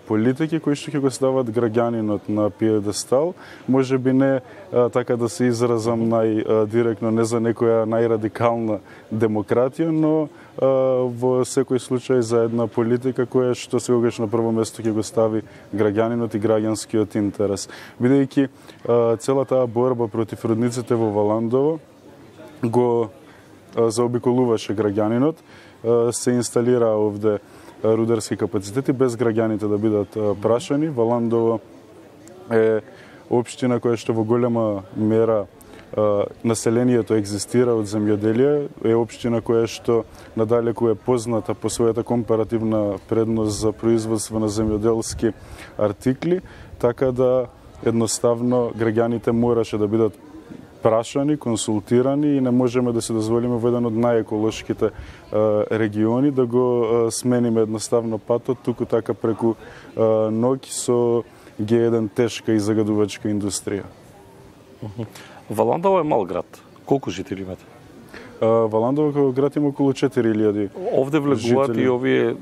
политики кои што ќе го стават граѓанинот на пиедестал, можеби не така да се изразам најдиректно, не за некоја најрадикална демократија, но во секој случај за една политика која што секогаш на прво место ќе го стави граѓанинот и граѓанскиот интерес. Бидејќи целата борба против рудниците во Валандово го заобиколуваше граѓанинот, се инсталира овде рударски капацитети без граѓаните да бидат прашани. Валандово е општина која што во голема мера населението екзистира од земјоделие, е општина која што надалеку е позната по својата компаративна предност за производство на земјоделски артикли, така да едноставно граѓаните мораше да бидат прашани, консултирани и не можеме да се дозволиме во еден од најеколошките региони да го смениме едноставно патот, туку така преку ноќ со Г1 тешка и загадувачка индустрија. Валандово е мал град. Колку жители имате? Валандово како град има околу 4000. Овде влегуваат и овие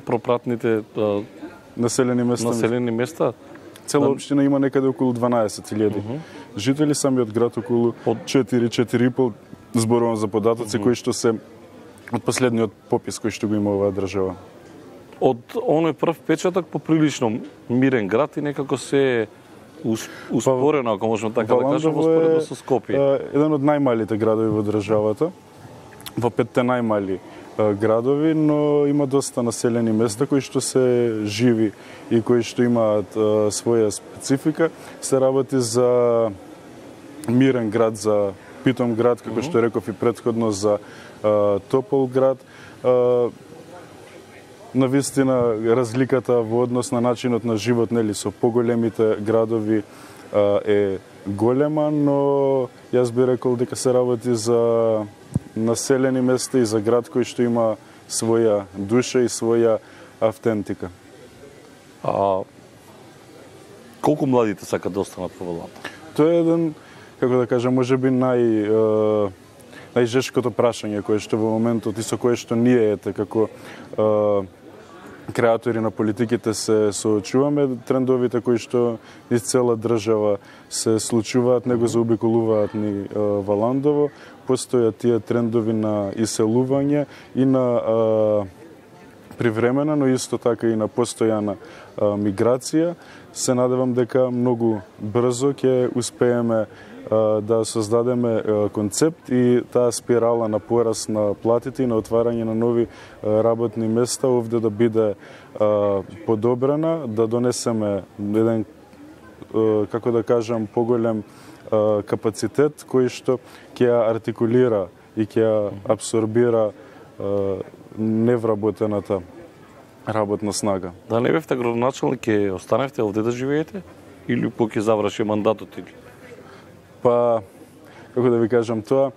пропратните населени места? Цела општина има некаде околу 12.000 жители, самиот град околу 4-4,5, зборувам за податоци кои што се од последниот попис кој што го има оваа држава. Од оној прв печаток поприлично мирен град и некако се успорено, ако можеме така да кажеме, успоредно со Скопје. Еден од најмалите градови во државата, во 5 најмали градови, но има доста населени места кои што се живи и кои што имаат своја специфика. Се работи за мирен град, за питом град, како што реков и претходно, за топол град. Навистина разликата во однос на начинот на живот, нели, со поголемите градови е голема, но јас би рекол дека се работи за населени места и за град кој што има своја душа и своја автентика. Колку младите сакат да останат во Валандово? Тоа е еден, како да кажам, можеби најжешкото прашање кое што во моментот и со кое што ние како креатори на политиките се соочуваме, трендовите кои што из цела држава се случуваат, него заобиколуваат ни Валандово, постојат тие трендови на иселување и на привремена, но исто така и на постојана миграција. Се надевам дека многу брзо ќе успееме да создадеме концепт и таа спирала на пораст на платите и на отварање на нови работни места овде да биде подобрена, да донесеме еден, како да кажам, поголем капацитет кој што ќе ја артикулира и ќе ја абсорбира невработената работна снага. Да не бевте градоначалник, ќе останевте овде да живеете или ќе заврши мандатот или? Па, како да ви кажам тоа,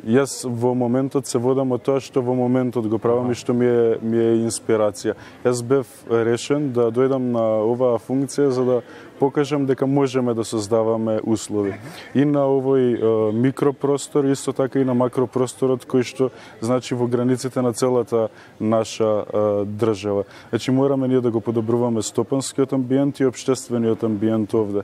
јас во моментот се водам од тоа што во моментот го правам и што ми е инспирација. Јас бев решен да дојдам на оваа функција за да покажам дека можеме да создаваме услови. И на овој микропростор, исто така и на макропросторот кој што значи во границите на целата наша држава. Значи мораме ние да го подобруваме стопанскиот амбиент и општествениот амбиент овде.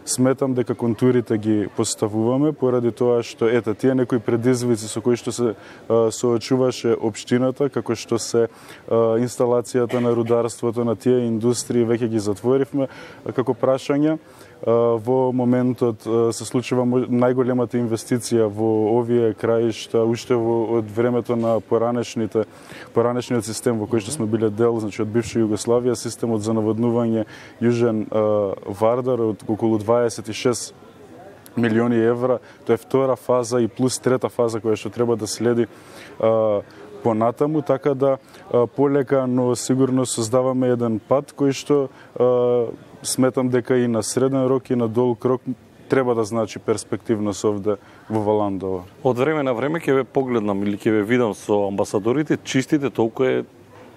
Сметам дека контурите ги поставуваме поради тоа што тие некои предизвици со кои што се соочуваше општината, како што се инсталацијата на рударството, на тие индустрии, веќе ги затворивме како прашање. Во моментот се случува најголемата инвестиција во овие краишта уште од времето на поранешниот систем во кој што сме биле дел, значи од бивша Југославија, системот за наводнување Јужен Вардар од околу 26 милиони евра. Тоа е втора фаза и плюс трета фаза која што треба да следи понатаму, така да полека, но сигурно создаваме еден пат кој што сметам дека и на среден рок и на долг рок треба да значи перспективност овде во Валандово. Од време на време ќе ве погледнам или ќе ве видам со амбасадорите, чистите толку е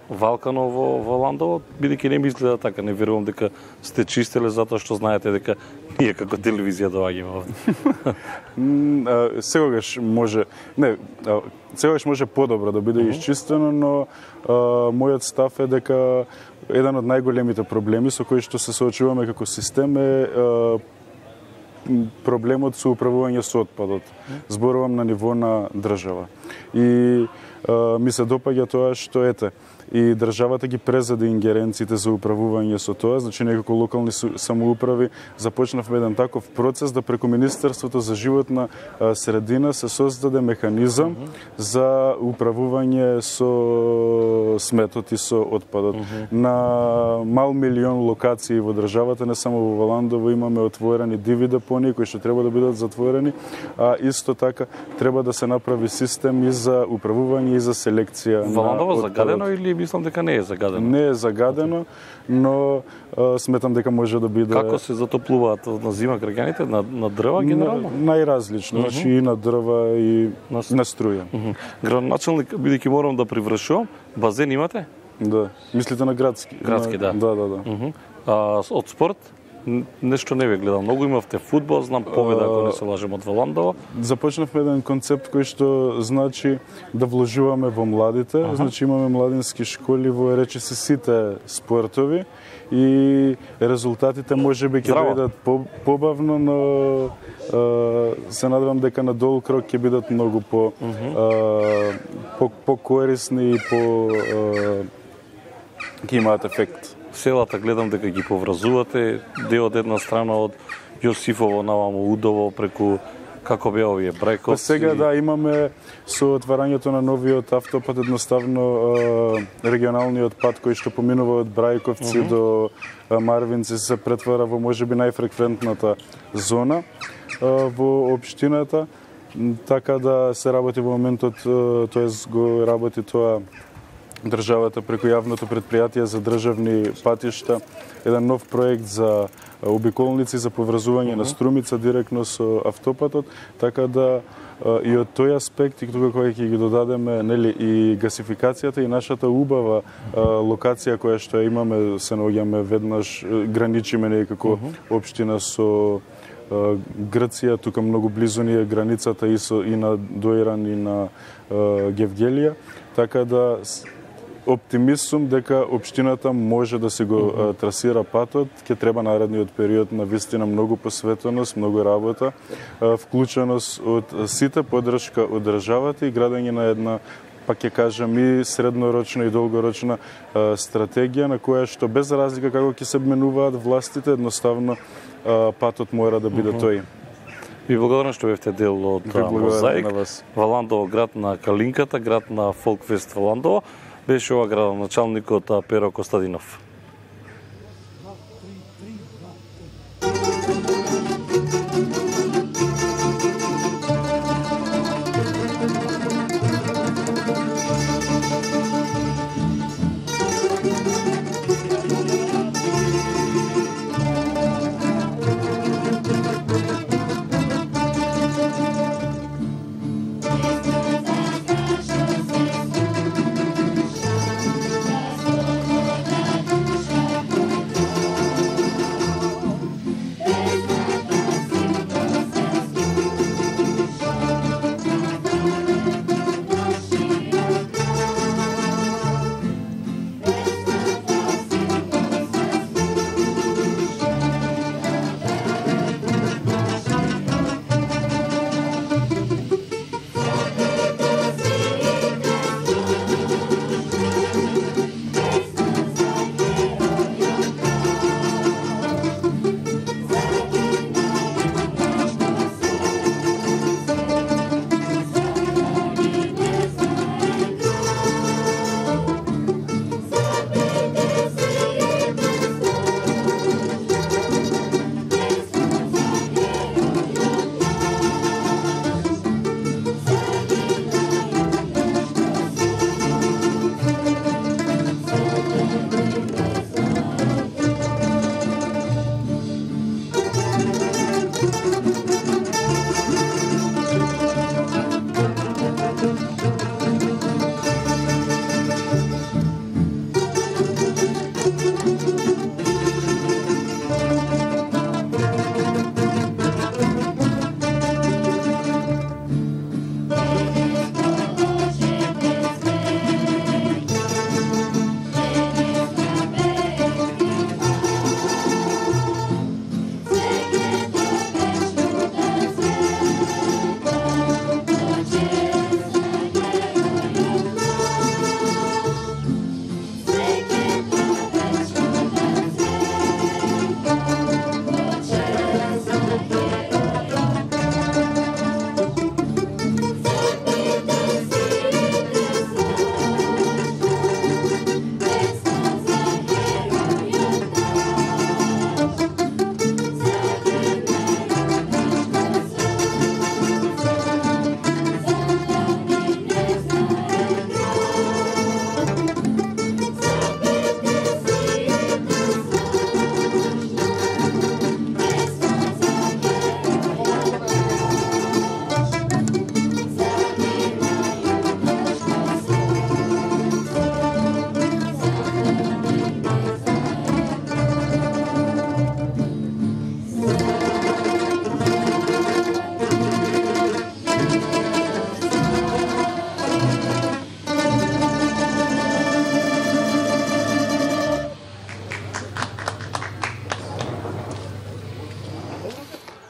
валкано во Валандово, бидејќи не ми изгледа така, не верувам дека сте чистеле затоа што знаете дека ние како телевизија доаѓаме овде. Секогаш може подобро да биде исчистено, но мојот став е дека еден од најголемите проблеми со кои што се соочуваме како систем е проблемот со управување со отпадот. Зборувам на ниво на држава. И ми се допаѓа тоа што и државата ги презеде ингеренциите за управување со тоа, значи некако локални самоуправи започнавме еден таков процес да преку Министерството за животна средина се создаде механизам за управување со сметот и со отпадот. На мал милион локации во државата, не само во Валандово, имаме отворени диви депонии кои што треба да бидат затворени, а исто така треба да се направи систем и за управување и за селекција. Валандово загадено или мислам дека не е загадено? Не е загадено, но сметам дека може да биде... Како се затоплуваат на зима граѓаните? На дрва генерално? Најразлично, значи и на дрва и на струја. Градоначалник, бидејќи морам да привршувам, базен имате? Да. Мислите на градски? Градски, да. Да. Од спорт? Нешто не ве гледам. Многу имавте фудбал, знам Победа, ако не се лажем, од Валандово. Започнавме еден концепт кој што значи да вложуваме во младите. Значи имаме младински школи во речиси сите спортови и резултатите можеби ќе дојдат побавно, но се надевам дека на долг рок ќе бидат многу по-корисни и ќе имаат ефект. Селата гледам дека ги поврзувате, дел од една страна од Јосифово наваму Удово преку како беа овие Брајковци. Сега да имаме со отварањето на новиот автопат едноставно регионалниот пат кој што поминува од Брајковци до Марвинци се претвара во можеби најфреквентната зона во општината, така да се работи во моментот, тоест го работи тоа државата преку јавното предпријатие за државни патишта, еден нов проект за обиколници за поврзување на Струмица директно со автопатот, така да и од тој аспект и тука кога ќе ги додадеме и гасификацијата и нашата убава локација која што имаме, се наоѓаме веднаш, граничиме некако општина со Грција, тука многу близу ни е границата и на Доиран и на Гевгелија, така да оптимист сум дека општината може да се го трасира патот, ќе треба наредниот период на вистина многу посветеност, многу работа, вклученост од сите, поддршка од државата и градење на една, пак ќе кажам, и среднорочна и долгорочна стратегија на која што без разлика како ќе се менуваат властите, едноставно патот мора да биде тој. Ви благодарам што бевте дел од Мозаик. Валандово, град на Калинката, град на Фолкфест Валандово. Беше ова градоначалникот Перо Костадинов.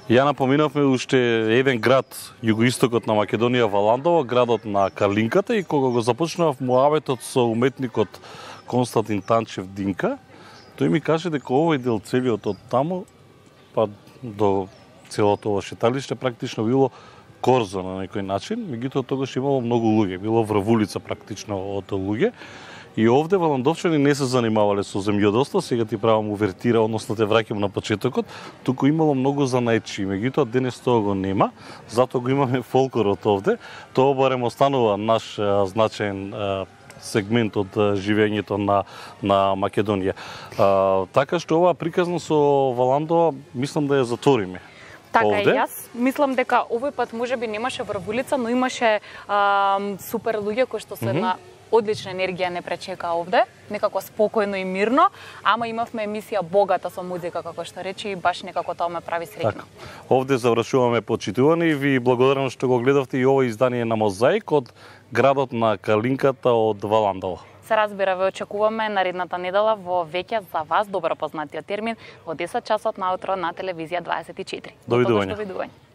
Ја напоминавме уште еден град југоистокот на Македонија, Валандово, градот на Калинката, и кога го започнав муабетот со уметникот Константин Танчев Динка, тој ми каже дека овој дел целиот од таму па до целото ова шеталиште практично било корзо на некој начин, меѓутоа тогаш имало многу луѓе, било врвулица практично од луѓе. И овде валандовчани не се занимавале со земјоделство, сега ти правам увертира, односно те враќам на почетокот, туку имало многу занајчи, меѓутоа денес тоа го нема, затоа го имаме фолклорот овде, тоа барем останува наш значаен сегмент од живењето на Македонија. Така што ова приказно со Валандова, мислам да ја затвориме. Така овде. и јас мислам дека овој пат можеби немаше врвулица, но имаше супер луѓе кои што се на одлична енергија не пречека овде, некако спокојно и мирно, ама имавме емисија богата со музика, како што рече, и баш некако тоа ме прави среќна. Така. Овде завршуваме почитувани и ви благодарам што го гледавте и ова издание на Мозаик од градот на Калинката од Валандово. се разбира, ве очекуваме наредната недела во веќе за вас добро познатиот термин во 10 часот наутро на телевизија 24. Довидување. Довидување.